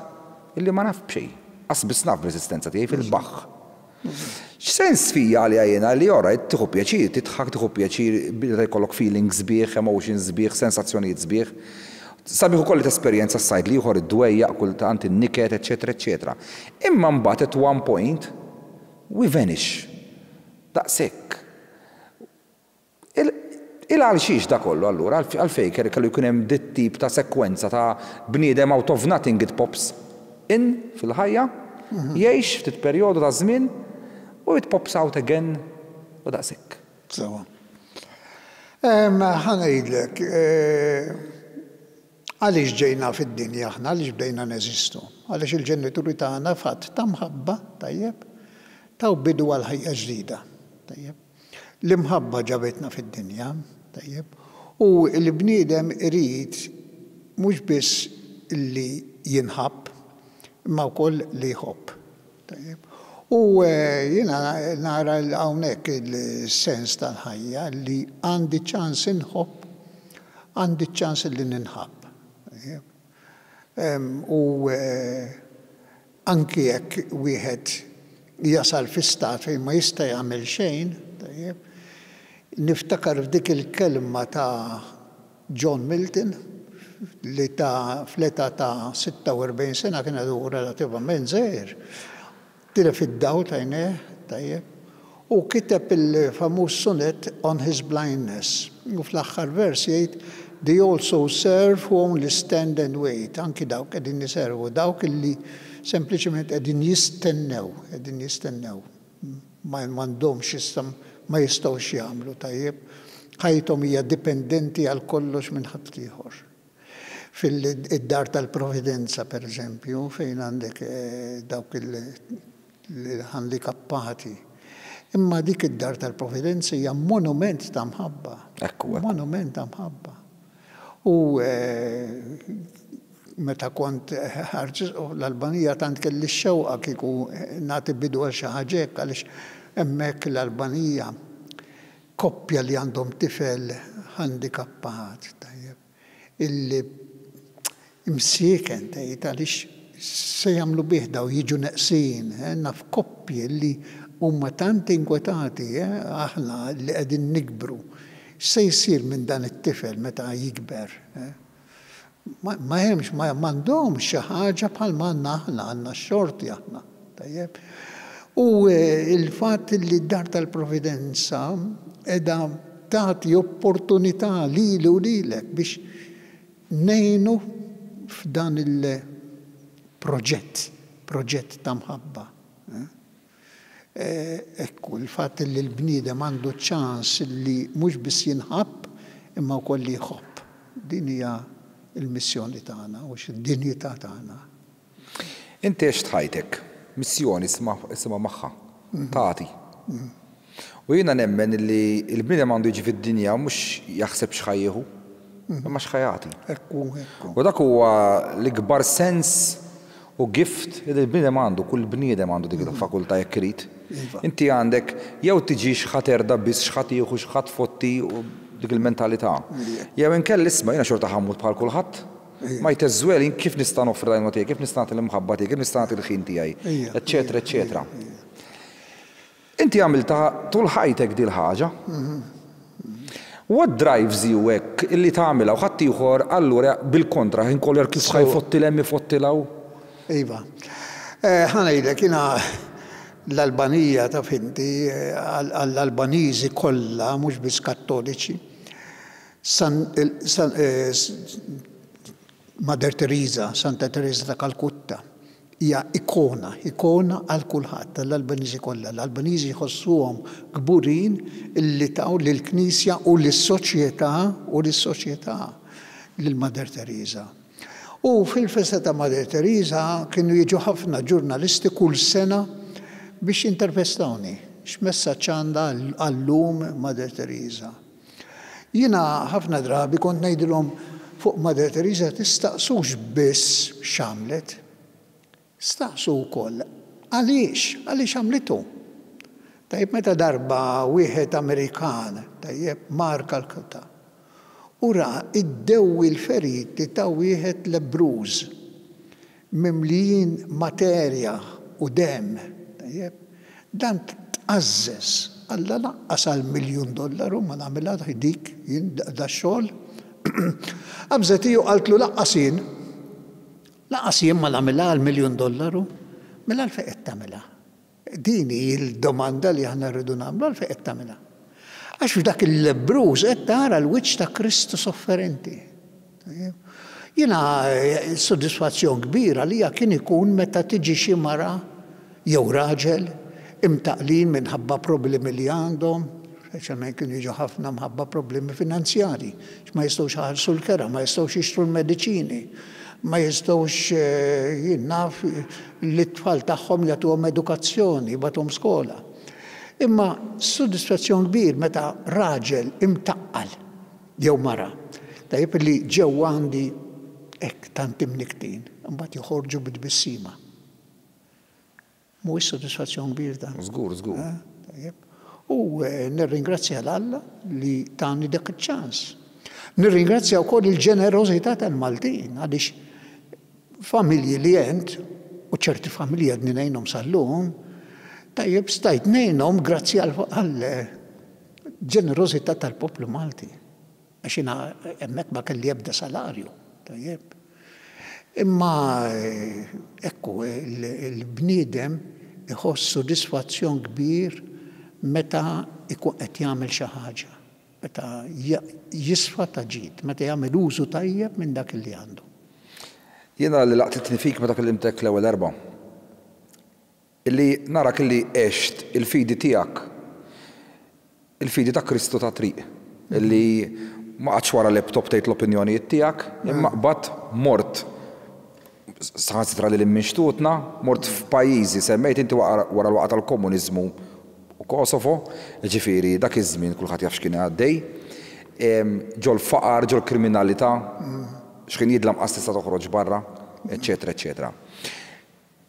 illi ma naf b'xejn. Qas biss naf bl-eżistenza tiegħi, fil-baħħ. X'sens fija għalija jiena li ora tieħu pjaċir, tidħak, tieħu pjaċir, bida jkollok feelings sbieħ, emotions sbieħ, sensazzjonijiet sbieħ? Sabiħ ukoll li tesperjenza s-side l-ieħor, id-dwejjaq, kultant in-niket, eċetera, eċetera. Imma mbagħad at one point we vanish. Daqshekk. Il għal xiex da kollu allura, għalfejn kellu jkun hemm dit tip ta' sekwenza ta' bniedem, out of nothing it pops in fil-ħajja, jgħix ftit perjodu ta' żmien u it pops out again u daqshekk? Sewwa. Ħa ngħidlek, għaliex ġejna fid-dinja aħna, għaliex bdejna neżistu? Għaliex il-ġenituri tagħna fatt ta' mħabba, tajjeb, taw bidu għal ħajja ġdida, tajjeb. L-imħabba ġabetna fid-dinja, tajjeb, u l-bniedem irid mhux biss li jinħabb, imma wkoll li jħobb. Tajjeb. U jiena nara hawnhekk il-sens tal-ħajja, li għandi ċans inħobb, għandi ċans li ninħabb. U anki jekk wieħed jasal fi stat fejn ma jista' jagħmel xejn, tajjeb, niftakar f'dik il-kelma ta' John Milton li ta' fl-età ta' sitta u erbgħin sena, kien għadu relativament żgħir, tilef id-dawl t'għajnejh, tajjeb, u kiteb il-famuż sonnet On His Blindness. U fl-aħħar vers jgħid, "They also serve who only stand and wait." Anki dawk qegħdin jiservu, dawk illi sempliċement qegħdin jistennew, qegħdin jistennew. Ma m'għandhomx issa, ma jistgħux jagħmlu tajjeb. Ħajjithom hija dipendenti għal kollox minn ħaddieħor. Fil-dar tal-Providenza, per eżempju, fejn għandek dawk il-handikappati. Imma dik id-dar tal-Providenza hija monument ta' mħabba. Ekku, ekku. Monument ta' mħabba. U meta kont Arċisqof l-Albanija tant kelli x-xewqa kieku nagħti bidu għal xi ħaġa hekk, għaliex hemmhekk l-Albanija koppja li għandhom tifel handikappat, tajjeb, illi imsieken tgħid għaliex se jagħmlu bih daw jiġu neqsin, naf koppji li huma tant inkwetati, aħna li qegħdin nikbru. Se jsir minn dan it-tifel meta jikber? Ma hemmx, ma m'għandhomx xi ħaġa bħal ma għandna aħna, għandna x-xorti aħna, tajjeb. U il-fatt li d-dar tal-Providenza qiegħda tagħti opportunità lili u lilek biex ngħinu f'dan il-proġett, proġett ta' mħabba. Ekku, il-fatt li l-bniedem għandu ċans li mhux biss jinħabb imma wkoll li jħobb. Din hija il-missjoni tagħna u x-dinjità tagħna. Inti għext ħajtek, missjoni isma' magħha, tagħti. U jiena nemmen li l-bniedem għandu jiġi fid-dinja mhux jaħseb x'ħa jieħu, imma x'ħa jagħti. Ekku, ekku. U dak huwa l-ikbar sens u gift li l-bniedem għandu, kull bniedem għandu dik il-fakultà jekk irid. Inti għandek jew tiġi x'ħa terda biss, x'ħa tieħu, x'ħa tfotti u dik il-mentalità. Jew inkella isma' jiena xorta ħammut bħal kulħadd. Ma jteżwel kif nista' noffri l-għajnuna tiegħi, kif nista' nagħti l-imħabba tiegħi, kif nista' nagħti l-ħin tiegħi, eċċetera, eċċetera. Inti għamilta tul ħajtek dil ħaġa. What drives you hekk illi tagħmilha u ħadd ieħor allura bil-kontra ħin kollu kif ħa jfotti 'l hemm ifotti 'l hawn? Iva. Ħa ngħidlek, jiena l-Albanija taf inti, għall-Albaniżi kollha, mhux biss Kattoliċi, San, San, Mother Teresa, Santa Teresa ta' Kalkutta, hija ikona, ikona għal kulħadd, għall-Albaniżi kollha. L-Albaniżi jħossuhom kburin illi taw lill-Knisja u lis-soċjetà u lis-soċjetà lil Mother Teresa. U fil-festa ta' Mother Teresa kienu jiġu ħafna ġurnalisti kull sena biex jintervistawni. X'messaġġ għandha għallum Mother Teresa? Jiena ħafna drabi kont ngħidilhom fuq Mother Teresa tistaqsux biss x'għamlet, staqsu wkoll għaliex, għaliex għamlitu. Tajjeb, meta darba wieħed Amerikan, tajjeb, mar Kalkutta, u ra id-dewwi l-feriti ta' wieħed lebbruż, mimlijin materja u dem, tajjeb, dan tqażżeż, Alla laqqas għal miljun dollaru ma nagħmilha dik jien da xogħol. Qabżet iju qaltlu laqqas jien. Laqqas jien ma nagħmilha għal miljun dollaru, mela għalfejn qed tagħmilha. Din hi l-domanda li aħna rridu nagħmlu, għalfejn qed tagħmilha. Għax f'dak il-lebbruż qed tara l-wiċċ ta' Kristu sofferenti. Jiena soddisfazzjon kbira li kien ikun meta tiġi xi mara jew raġel imtaqlin minħabba problemi li għandhom, speċjalment kienu jiġu ħafna mħabba problemi finanzjari, ma jistgħux iħallsu l-kera, ma jistgħux jixtru l-mediċini, ma jistgħux jien naf li t-tfal tagħhom jagħtuhom edukazzjoni, jibgħatuhom skola. Imma soddisfazzjon kbir meta raġel imtaqqal jew mara, tajjeb li ġew għandi hekk tant imniktin, imbagħad joħorġu bit-tbissima. Mhuwiex soddisfazzjon kbir dan. Żgur, żgur. Tajjeb. U nirringrazzja 'l Alla li tani dak iċ-ċans. Nirringrazzja wkoll il-ġenerożità tal-Maltin għaliex familji li għent, u ċerti familji għadni ngħinhom sal-lum, tajjeb stajt ngħinhom grazzi għal ġenerożità tal-poplu Malti. Għax jiena hemmhekk ma kelli ebda salarju, tajjeb. Imma ekku, il-bniedem iħoss soddisfazzjon kbir meta ikun qed jagħmel xi ħaġa, meta jisfa ta' ġid, meta jagħmel użu tajjeb minn dak li għandu. Jiena li laqtitni fik meta kellimtek l-ewwel darba. Illi narak illi għext il-fidi tiegħek, il-fidi ta' Kristu ta' triq, illi ma qgħadx wara laptop tgħid l-opinjonijiet tiegħek, imma qbadt mort saħansitra lil minn xtutna, mort f'pajjiżi, semmejt inti wara l-waqgħa tal-komuniżmu u Kosovo, ġifieri dak iż-żmien kulħadd jaf x'kien għaddej, ġol-faqar, ġol-kriminalità, x'kien jidlam qas tista' toħroġ barra, eċċetera, eċċetera.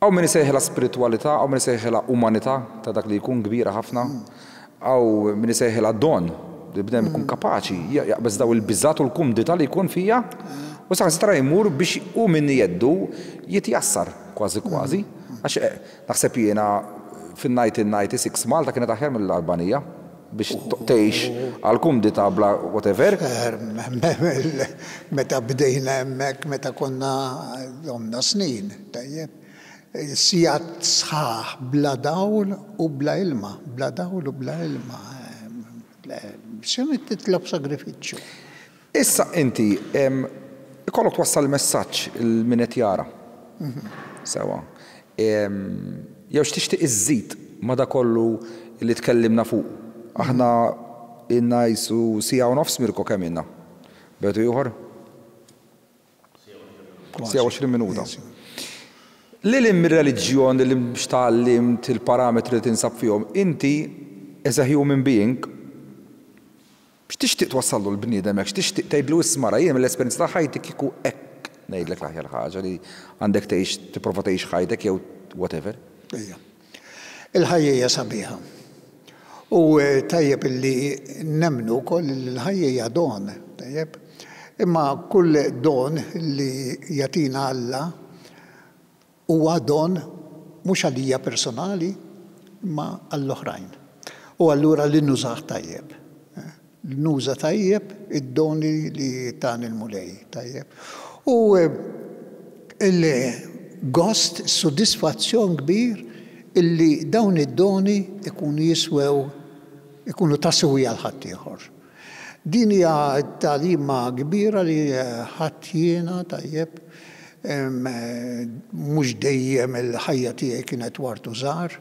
Hawn min isejħilha spiritwalità, hawn min isejħilha umanità ta' dak li jkun kbira ħafna, hawn min isejħilha don, li bnedem ikun kapaċi jaqbeż daw il-biżgħat u l-kumdità li jkun fija u saħansitra jmur biex hu minn jeddu jitjassar kważi kważi. Għax naħseb jiena fin-nineteen ninety-six Malta kienet aħjar mill-Albanija biex tgħix għal kumdità bla whatever. Meta bdejna hemmhekk, meta konna għomna snin, tajjeb, sigħat sħaħ bla dawl u bla ilma, bla dawl u bla ilma. X'inhu titlob sagrifiċċju. Issa inti ikollok twassal messaġġ lil min qed jara. Sewa. Jew x'tixtieq iżżid ma' da kollu li tkellimna fuq? Aħna ilna jisu siegħa u nofs, Mirko, kemm ilna? Betu ieħor? Siegħa għoxrin minuta. Lil hinn mir-reliġjon, li x'tgħallimt, il-parametri li tinsab fihom, inti as a human being, x'tixtieq twassallu l-bniedem hekk, x'tixtieq tgħidlu isma' jien mill-esperjenza ta' ħajti kieku hekk ngħidlek l-aħjar ħaġa li għandek tgħix, tipprova tgħix ħajtek jew whatever? Ejja. Il-ħajja hija sabiħa. U tajjeb illi nemmnu wkoll li l-ħajja hija don, tajjeb. Imma kull don li jagħtina Alla huwa don mhux għalija personali, imma għall-oħrajn. U allura li nużah tajjeb. Li nuża tajjeb id-doni li tani l-Mulej, tajjeb. U il-gost, soddisfazzjon kbir illi dawn id-doni ikunu jiswew, ikunu ta' siwi għal ħaddieħor. Din hija tagħlima kbira li ħadt jiena, tajjeb, mhux dejjem il-ħajja tiegħi kienet ward u żahar,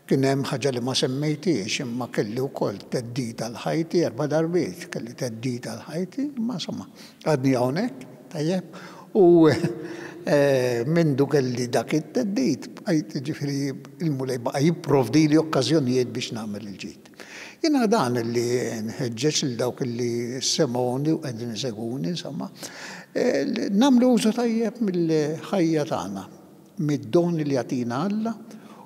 kien hemm ħaġa li ma semmejtiex, imma kelli wkoll theddid għal ħajti erba' darbiet, kelli theddid għal ħajti, imma insomma, għadni hawnhekk, tajjeb, u mindu kelli dak it-theddid, bqajt, ġifieri il-Mulej baqa' jipprovdili okkażjonijiet biex nagħmel il-ġid. Jiena dan li nħeġġeġ lil dawk li semgħuni u qegħdin isegwuni, insomma, nagħmlu użu tajjeb mill-ħajja tagħna, mid-don li jagħtina Alla,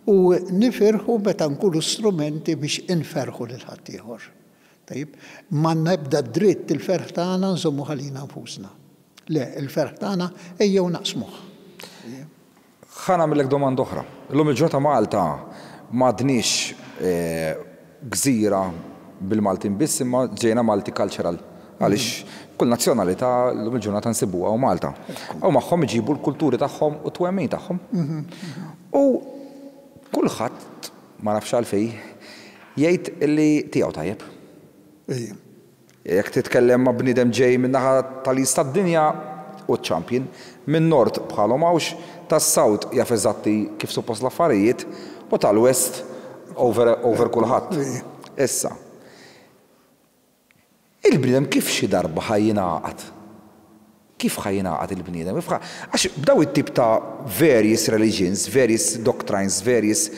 u nifirħu meta nkunu strumenti biex inferħu lil ħaddieħor. Tajjeb, m'għandna ebda dritt il-ferħ tagħna nżommu għalina nfusna. Le, il-ferħ tagħna ejjew naqsmuh. Ħa nagħmellek domanda oħra. Illum il-ġurnata Malta m'għadniex gżira bil-Maltin biss, imma ġejna multicultural. Għaliex kull nazzjonalità llum il-ġurnata nsibuha u Malta. U magħhom iġibu l-kulturi tagħhom u t-twemmin tagħhom. U kulħadd, ma nafx għalfejn, jgħid li tiegħu tajjeb. Jekk titkellem ma' bniedem ġej min-naħa tal-East tad-dinja u champion, minn Nord bħalhom hawnx, tas-South jaf eżatti kif suppost l-affarijiet, u tal-West over, over kulħadd. Issa, il-bniedem kif xi darba ħa jingħaqad? Kif ħa jingħaqad il-bniedem? Għax b'daw it-tip ta' various religions, various doctrines, various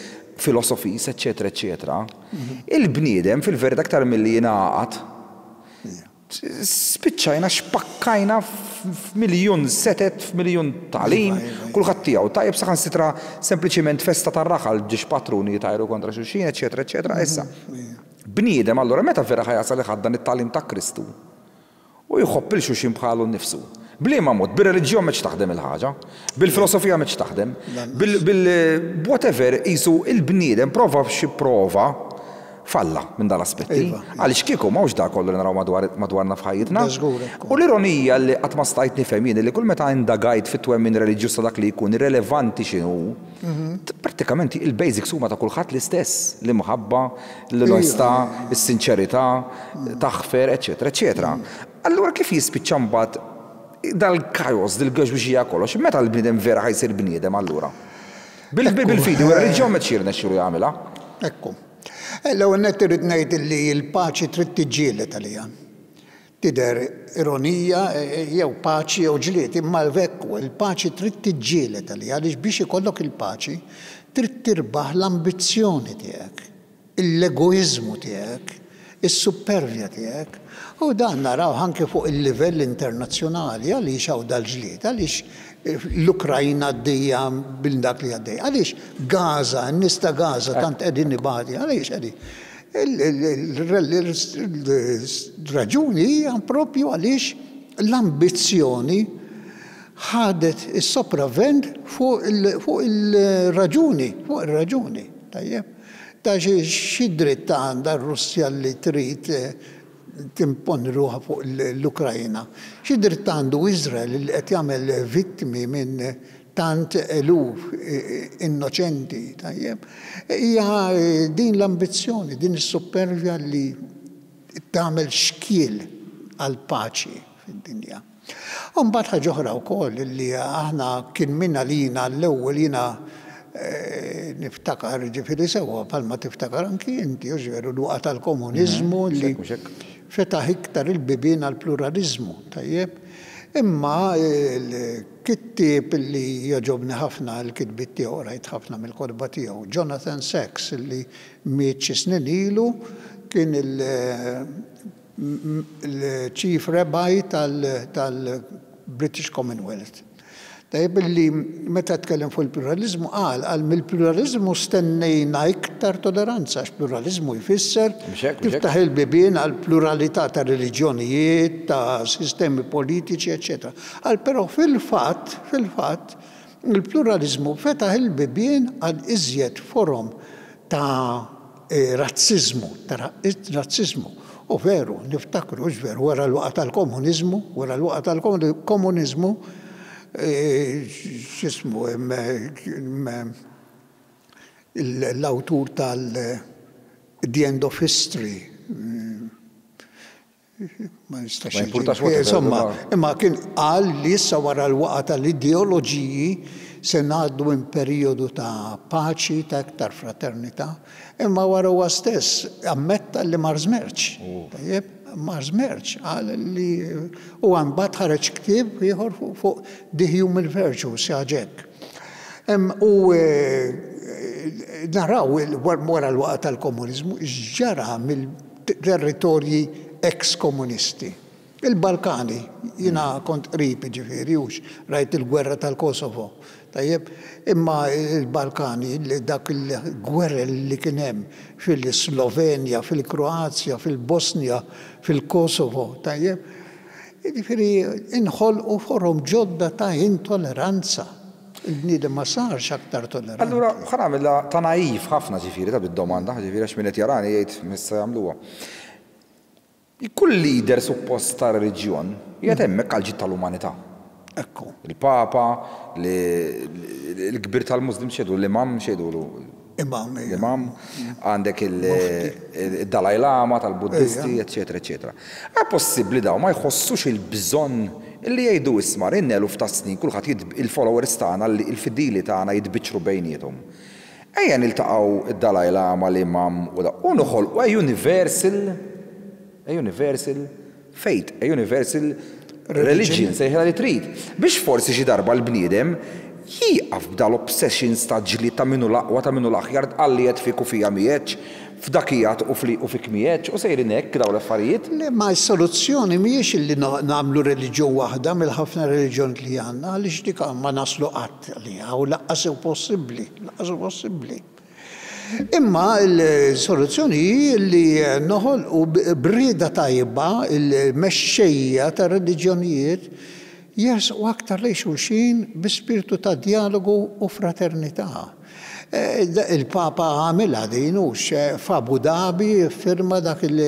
philosophies, eccetera, eccetera, il-bniedem fil-verità aktar milli jingħaqad, spiċċajna xpakkajna f'miljun setet, f'miljun tagħlim, kulħadd tiegħu. Tajjeb, saħansitra sempliċiment festa tar-raħal ġiex patruni jtajru kontra xulxin, eċetera, eċetera. Issa, bniedem allura meta vera ħa jasal iħaddan it-tagħlim ta' Kristu u jħobb lil xulxin bħalu nnifsu? Bliema mod? Bir-reliġjon mhux taħdem il-ħaġa, bil-filosofija mhux taħdem, bil-whatever isu il-bniedem prova xi prova falla minn dal-aspetti. Għaliex kieku m'hawnx da kollu li naraw madwarna f'ħajjitna. U l-ironija li qatt ma stajt nifhem jien li kull meta indagajt fit-twemmin reliġjuż ta' dak li jkun irrelevanti x'inhu, prattikament il-basics huma ta' kulħadd l-istess, l-imħabba, l-onestà, is-sinċerità, taħfer, eċetera, eċetera. Allura kif jispiċċa mbagħad dal-kajos, dil-għaxwixija kollox, meta l-bniedem vera ħa jsir bniedem allura? Bil-fidi u r-reliġjon ma jirnexxielu jagħmilha. Ekku. L-ewwel nett irrid ngħid li l-paċi trid tiġġieled għaliha. Tidher ironija, jew paċi jew ġlied, imma l-vekku, il-paċi trid tiġġieled għaliha, għaliex biex ikollok il-paċi trid tirbaħ l-ambizzjoni tiegħek, l-egoiżmu tiegħek, is-supervja tiegħek. U dan naraw anke fuq il-livell internazzjonali. Għaliex hawn dal-ġlied? Għaliex l-Ukrajna għaddejja bil dak li għaddejja? Għaliex Gaza, n-nies ta' Gaza tant qegħdin ibati? Għaliex qegħdin? Il-raġuni hija propju għaliex l-ambizzjoni ħadet is-sopravvent fuq il-raġuni, fuq il-raġuni, tajjeb. Ta' xi dritt għandha r-Russja li trid timponi ruħha fuq l-Ukrajna? Xi dritt għandu Izrael li qed jagħmel vittmi minn tant eluf innoċenti, tajjeb? Hija din l-ambizzjoni, din is-supervja li tagħmel xkiel għal paċi fid-dinja. U mbagħad ħaġa oħra wkoll li aħna kien minna lina l-ewwel, jiena niftakar, ġifieri sewwa bħalma tiftakar anki inti, ġifieri l-waqgħa tal-komuniżmu li fetaħ iktar il-bibien għal pluralizmu, tajjeb. Imma l-kittieb li jogħġobni ħafna l-kitbiet tiegħu, rajt ħafna mill-kotba tiegħu, Jonathan Sacks, li miet xi snin ilu, kien il-Chief Rabbi tal-British Commonwealth. Tajjeb, li meta tkellem fuq il-pluralizmu qal qal mill-pluralizmu stennejna iktar toleranza, għax pluralizmu jfisser tiftaħ il-bibien għal pluralità ta' reliġjonijiet, ta' sistemi politiċi, eċċetera. Qal però fil-fatt, fil-fatt, il-pluralizmu fetaħ il-bibien għal iżjed forom ta' razzizmu, ta' razzizmu. U veru, niftakru, veru, wara l-waqgħa tal-komunizmu, wara l-waqgħa tal-komunizmu, x'jismu l-awtur tal The End of History, ma nistax. Insomma, imma kien qal li issa wara l-waqgħa tal-ideoloġiji se ngħaddu minn perjodu ta' paċi, ta' iktar fraternità, imma wara huwa stess ammetta li mar żmerċ. Tajjeb, mar żmerċ, qal li u mbagħad ħareġ ktieb ieħor fuq The Human Virtue, xi. U naraw wara l-waqgħa tal-komunizmu x'ġara mill-territorji ex-komunisti. Il-Balkani, jiena kont qrib, ġifieri, hux rajt il-gwerra tal-Kosovo. Tajjeb, imma il-Balkani, dak il-gwerra li kien hemm fil-Slovenja, fil-Kroazja, fil-Bosnia, fil-Kosovo, tajjeb, ġifieri inħolqu forom ġodda ta' intolleranza. Il-bniedem ma sarx aktar tolleranti. Allura, ħa nagħmilha ta' naif ħafna, ġifieri, ta' bid-domanda, ġifieri, għax min qed jarani jgħid missa jagħmluha. Kull leader suppost ta' reliġjon qiegħed hemmhekk għal ġid tal-umanità. Ekku. Il-Papa, l-kbir tal-Muslim x'jgħidu, l-imam x'jgħidu? Imam. L-imam, għandek il-Dalai Lama tal-Buddisti, eccetera, eccetera. È possibbli daw ma jħossux il-bżonn li jgħidu, "Isma', ilna eluf ta' snin kulħadd, il-followers tagħna, il-fidili tagħna jitbiċċru bejniethom. Ejja niltaqgħu id-Dalai Lama, l-imam u da u noħolqu a universal a universal faith, a universal religion, sejħilha li trid. Biex forsi xi darba l-bniedem jieqaf b'dal-obsessions ta' ġlied ta' min hu l-aqwa, ta' min hu l-aħjar, għalli qed fik u fija miegħek, f'dakijat u u fik miegħek, u sejrin hekk dawn l-affarijiet." Le, ma s-soluzzjoni mhijiex li nagħmlu reliġjon waħda mill-ħafna reliġjon li għandna, għaliex dik ma naslu qatt għaliha u lanqas hu possibbli, lanqas hu possibbli. Imma l-soluzzjoni hi li noħolqu b'rieda tajba il-mexxejja ta' reliġjonijiet jersqu aktar lejn xulxin bi spiritu ta' dialogu u fraternità. Il-Papa għamilha din, hux, f'Abu Dhabi firma dak il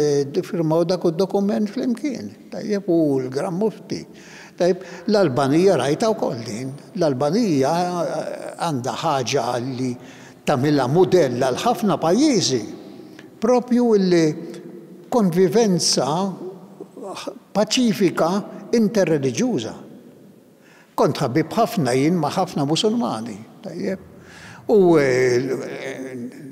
firmaw dak id-dokument flimkien. Tajjeb, u l-Gran Mufti. Tajjeb, l-Albanija rajta wkoll din. L-Albanija għandha ħaġa li tagħmilha mudell għal ħafna pajjiżi. Propju li konvivenza paċifika interreliġjuża. Kont ħabib ħafna jien ma' ħafna Musulmani, tajjeb. U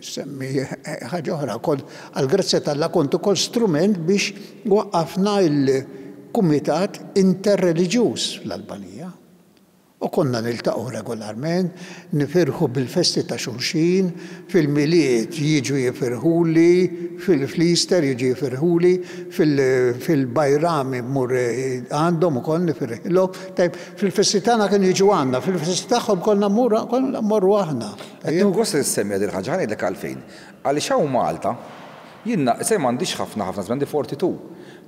semmi ħaġa oħra, għall-grazzja t'Alla kont ukoll strument biex waqqafna il-Kumitat Interreliġjuż fl-Albanija. U konna niltaqgħu regolarment, nifirħu bil-festi ta' xulxin, fil-Milied jiġu jifirħuli, fil-Easter jiġu jifirħuli, fil-Bajrami mmur għandhom ukoll nifirħilhom. Tajb, fil-festi tagħna kienu jiġu għandna, fil-festi tagħhom konna mmorru aħna. Qed gost li ssemmi din il-ħaġa, ngħidlek għalfejn. Għaliex hawn Malta, jiena se m'għandix ħafna ħafna żmien, għandi erbgħa u erbgħin.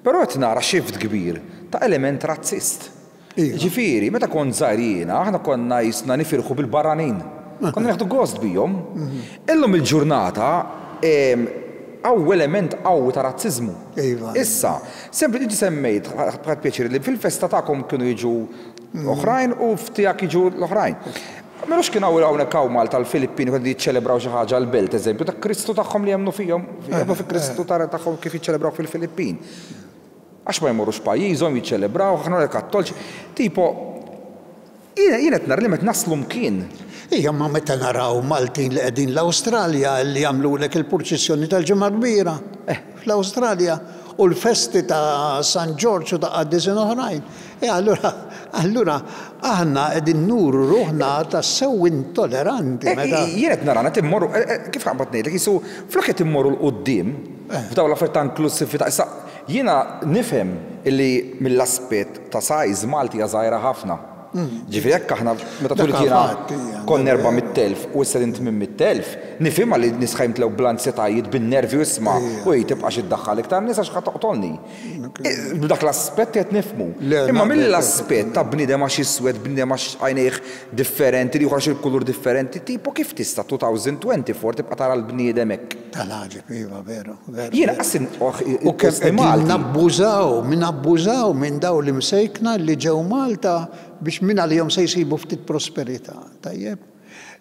Però qed nara shift kbir ta' element razzist. Ġifieri, meta kont żgħir jiena, aħna konna jisna nifirħu bil-barranin. Konna nieħdu gost bihom. Illum il-ġurnata hawn element qawwi ta' razzizmu. Issa, sempli inti semmejt, ħadt pjaċir li fil-festa tagħkom kienu jiġu oħrajn u f'tiegħek jiġu l-oħrajn. Melux kien hawn hawnhekk hawn Malta l-Filippini kienu jiċċelebraw xi ħaġa l-belt, eżempju, ta' Kristu tagħhom li jemmnu fihom, jemmnu fi Kristu tagħhom kif jiċċelebraw fil-Filippin. Għax ma jmorrux pajjiżhom jiċċelebraw, aħna kattolċi. Tipo, jiena qed nara li meta naslu mkien. Ija, ma meta naraw Maltin li qegħdin l-Awstralja li jagħmlulek il-purċissjoni tal-Ġimgħa Kbira fl-Awstralja u l-festi ta' San Ġorġ u ta' qaddisin oħrajn. E allura, allura aħna qegħdin nuru ruħna tassew intolleranti. Jien qed nara qed immorru, kif qabad ngħidlek, jisu flok qed immorru 'l quddiem f'dawn l-affarijiet ta' inklusività. Issa jiena nifhem illi mill-aspett ta' size Malti hija żgħira ħafna. Ġifieri jekk aħna meta twilt jiena konna erba' mitt elf u issa din tmien mitt elf, nifhimha li nies ħa jimtlew bl-ansjetajiet, bin-nervi u isma' u hi tibqax iddaħħal iktar nies għax ħa toqtolni. B'dak l-aspett qed nifhmu. Imma mill-aspett ta' bniedem għax iswed, bniedem għax għajnejh differenti, li għax il-kulur differenti, tipo kif tista' elfejn u erbgħa u għoxrin tibqa' tara l-bniedem hekk? Tal-għaġeb, iva, veru, veru. Jiena qassin U kemm qegħdin nabbużaw, min abbużaw minn daw li msejkna li ġew Malta biex minn għalihom se jsibu ftit prosperità. Tajjeb?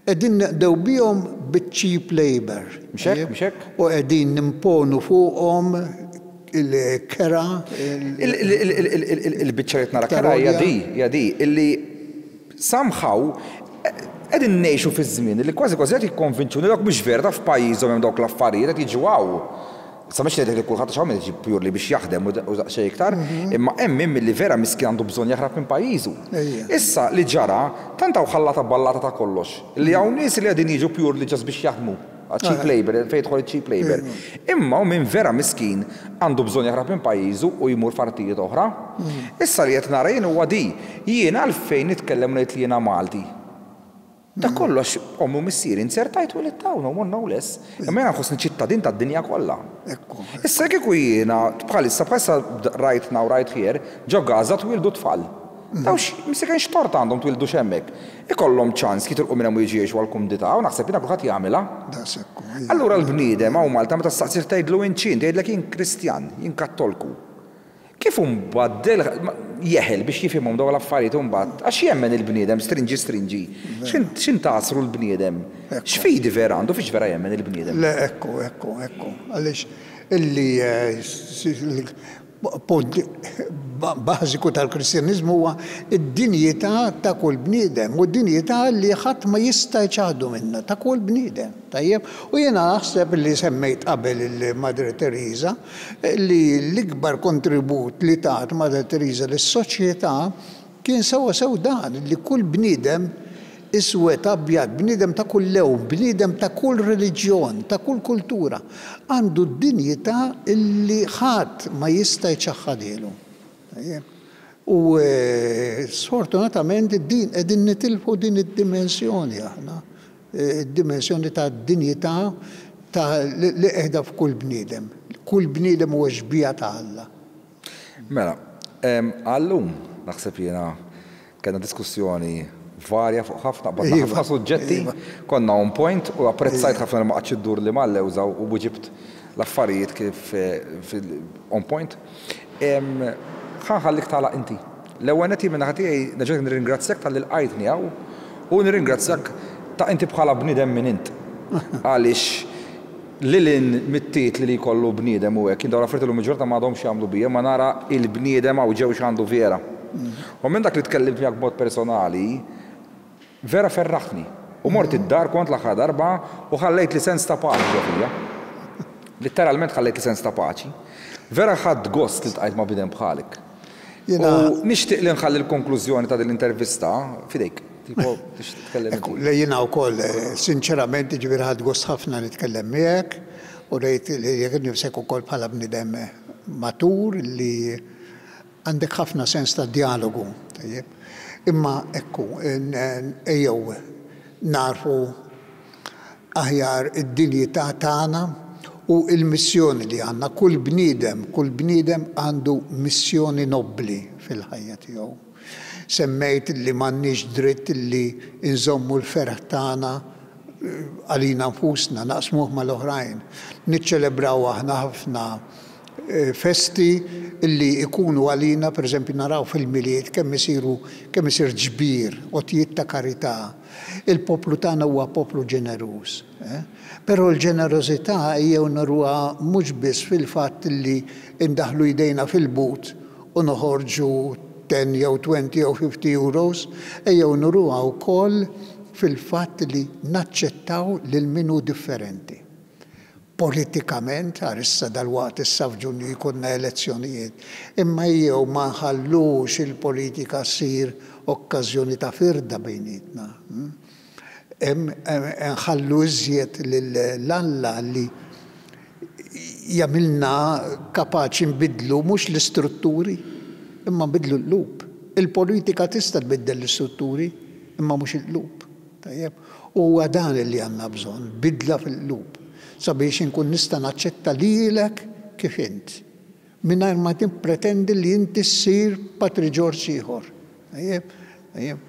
Qegħdin neqdew bihom bit-cheap labor. Mhux hekk, mhux hekk? U qegħdin nimponu fuqhom il-kera. Il-biċċa li nara kera hija di, hija di, illi somehow qegħdin ngħixu fi żmien li kważi kważi qed jikkonvinċuni dak mhux vera ta' f'pajjiżhom hemm dawk l-affarijiet qed jiġu hawn. Sa mhux ngħidlek li kulħadd x'hawn jiġi purely biex jaħdem u daqsxejn iktar, imma hemm min milli vera miskin għandu bżonn jaħrab minn pajjiżu. Issa li ġara tant hawn ħallata ballata ta' kollox li hawn nies li qegħdin jiġu purely just biex jaħdmu. Cheap labor, fejn jidħol cheap labor. Imma u min vera miskin għandu bżonn jaħrab minn pajjiżu u jmur f'artijiet oħra. Issa li qed nara jien huwa di, jien għalfejn nitkellem ngħid li jiena Malti. Da kollox ommi u missieri inzertajt u l-tawna u no less. Imma jiena nħossni ċittadin tad-dinja kollha. Issa kieku jiena bħalissa bħalissa right now right here ġo Gaza twildu tfal. Daw msiken x'tort għandhom twildu x'hemmhekk. Ikollhom ċans jitilqu minn hemm u jiġu jgħixu għall-kumdità u naħseb jiena kulħadd jagħmilha. Allura l-bniedem hawn Malta meta staqsir tgħidlu inċin, tgħidlek jien Kristjan, jien Kattolku. Kif imbagħad jeħel biex jifhimhom dawn l-affarijiet imbagħad għax jemmen il-bniedem strinġi strinġi. X'in tasru l-bniedem? X'fidi vera għandu fiex vera jemmen il-bniedem? Le, ekku, ekku, ekku. Għaliex illi punt bażiku tal-Kristjaniżmu huwa id-dinjità ta' kull bniedem u d-dinjità li ħadd ma jista' jċaħdu minnha ta' kull bniedem. Tajjeb, u jiena naħseb li semmejt qabel il-Madre Teresa li l-ikbar kontribut li tat Madre Teresa lis-soċjetà kien sewwa sew dan li kull bniedem iswed, abjad, bniedem ta' kull lewn, bniedem ta' kull reliġjon, ta' kull kultura, għandu d-dinjità illi ħadd ma jista' jċaħħadilu. U sfortunatament din qegħdin nitilfu din id-dimensjoni aħna, id-dimensjoni ta' dinjità ta' li qiegħda f'kull bniedem. Kull bniedem huwa xbieha ta' Alla. Mela, għallum naħseb jiena kellna diskussjoni varja fuq ħafna, qbadna ħafna suġġetti, konna on point u apprezzajt ħafna li ma qgħadx iddur li mal-lewża u ġibt l-affarijiet kif on point. Ħa nħallik tagħlaq inti. L-ewwel nett jien min-naħa tiegħi nerġa' nirringrazzjak talli lqajtni hawn u nirringrazzjak ta' inti bħala bniedem minn int. Għaliex lil hinn mit-titli li jkollu bniedem u hekk, jien dawn l-affarijiet illum il-ġurnata m'għadhomx jagħmlu bija, ma nara il-bniedem hawn ġew x'għandu vera. U minn dak li tkellimt miegħek b'mod personali, vera ferraħni. U mort id-dar kont l-aħħar darba u ħallejt li sens ta' paċi ġo fija. Literalment ħallejt li sens ta' paċi. Vera ħadt gost li ltqajt ma' bniedem bħalek. U nixtieq li nħalli l-konklużjoni ta' din l-intervista f'idejk. Tipo, tixtieq tkellem Ekku, le jiena wkoll, sinċerament, ġifieri ħadt gost ħafna nitkellem miegħek u rejt li jekk nifsek ukoll bħala bniedem matur li għandek ħafna sens ta' dialogu. Tajjeb. Imma ekku, ejjew narfu aħjar id-dinjità tagħna u il-missjoni li għandna. Kull bniedem, kull bniedem għandu missjoni nobbli fil-ħajja tiegħu. Semmejt li m'għandniex dritt li nżommu l-ferħ tagħna għalina nfusna, naqsmuh mal-oħrajn. Niċċelebraw aħna ħafna festi illi ikunu għalina, per eżempju, naraw fil-Milied kemm isiru kemm isir ġbir, għotjiet ta' karità. Il-poplu tagħna huwa poplu ġeneruż. Eh? Però l-ġenerożità ejjew naruha mhux biss fil-fatt li indaħlu jdejna fil-but u noħorġu ten jew twenty jew fifty euros, ejjew nuruha wkoll fil-fatt li naċċettaw lil min hu differenti. Politikament, għar issa dal-waqt issa f'Ġunju jkollna elezzjonijiet, imma jew ma nħallux il-politika ssir okkażjoni ta' firda bejnietna. Nħallu iżjed lil Alla li jagħmilna kapaċi nbidlu mhux l-istrutturi, imma nbidlu l-qlub. Il-politika tista' tbiddel l-istrutturi, imma mhux il-qlub. Tajjeb? U huwa dan li għandna bżonn, bidla fil-qlub, sabiex inkun nista' naċċetta lilek kif int, mingħajr ma tippretendi li inti ssir Patri Ġorġ ieħor. Tajjeb? Tajjeb?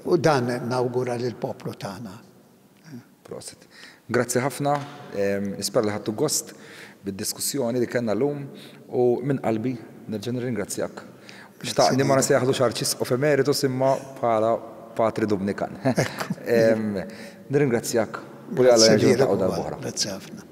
U dan nawgura lill-poplu tagħna. Prosit. Grazzi ħafna, nispera li ħadtu gost bid-diskussjoni li kellna llum u minn qalbi nerġa' nirringrazzjak. Xtaqni ma nsejjaħlux Arċisqof Emeritus imma bħala Patri Dumnikan. Nirringrazzjak u li Alla jerġa' niltaqgħu darb'oħra. Grazzi ħafna.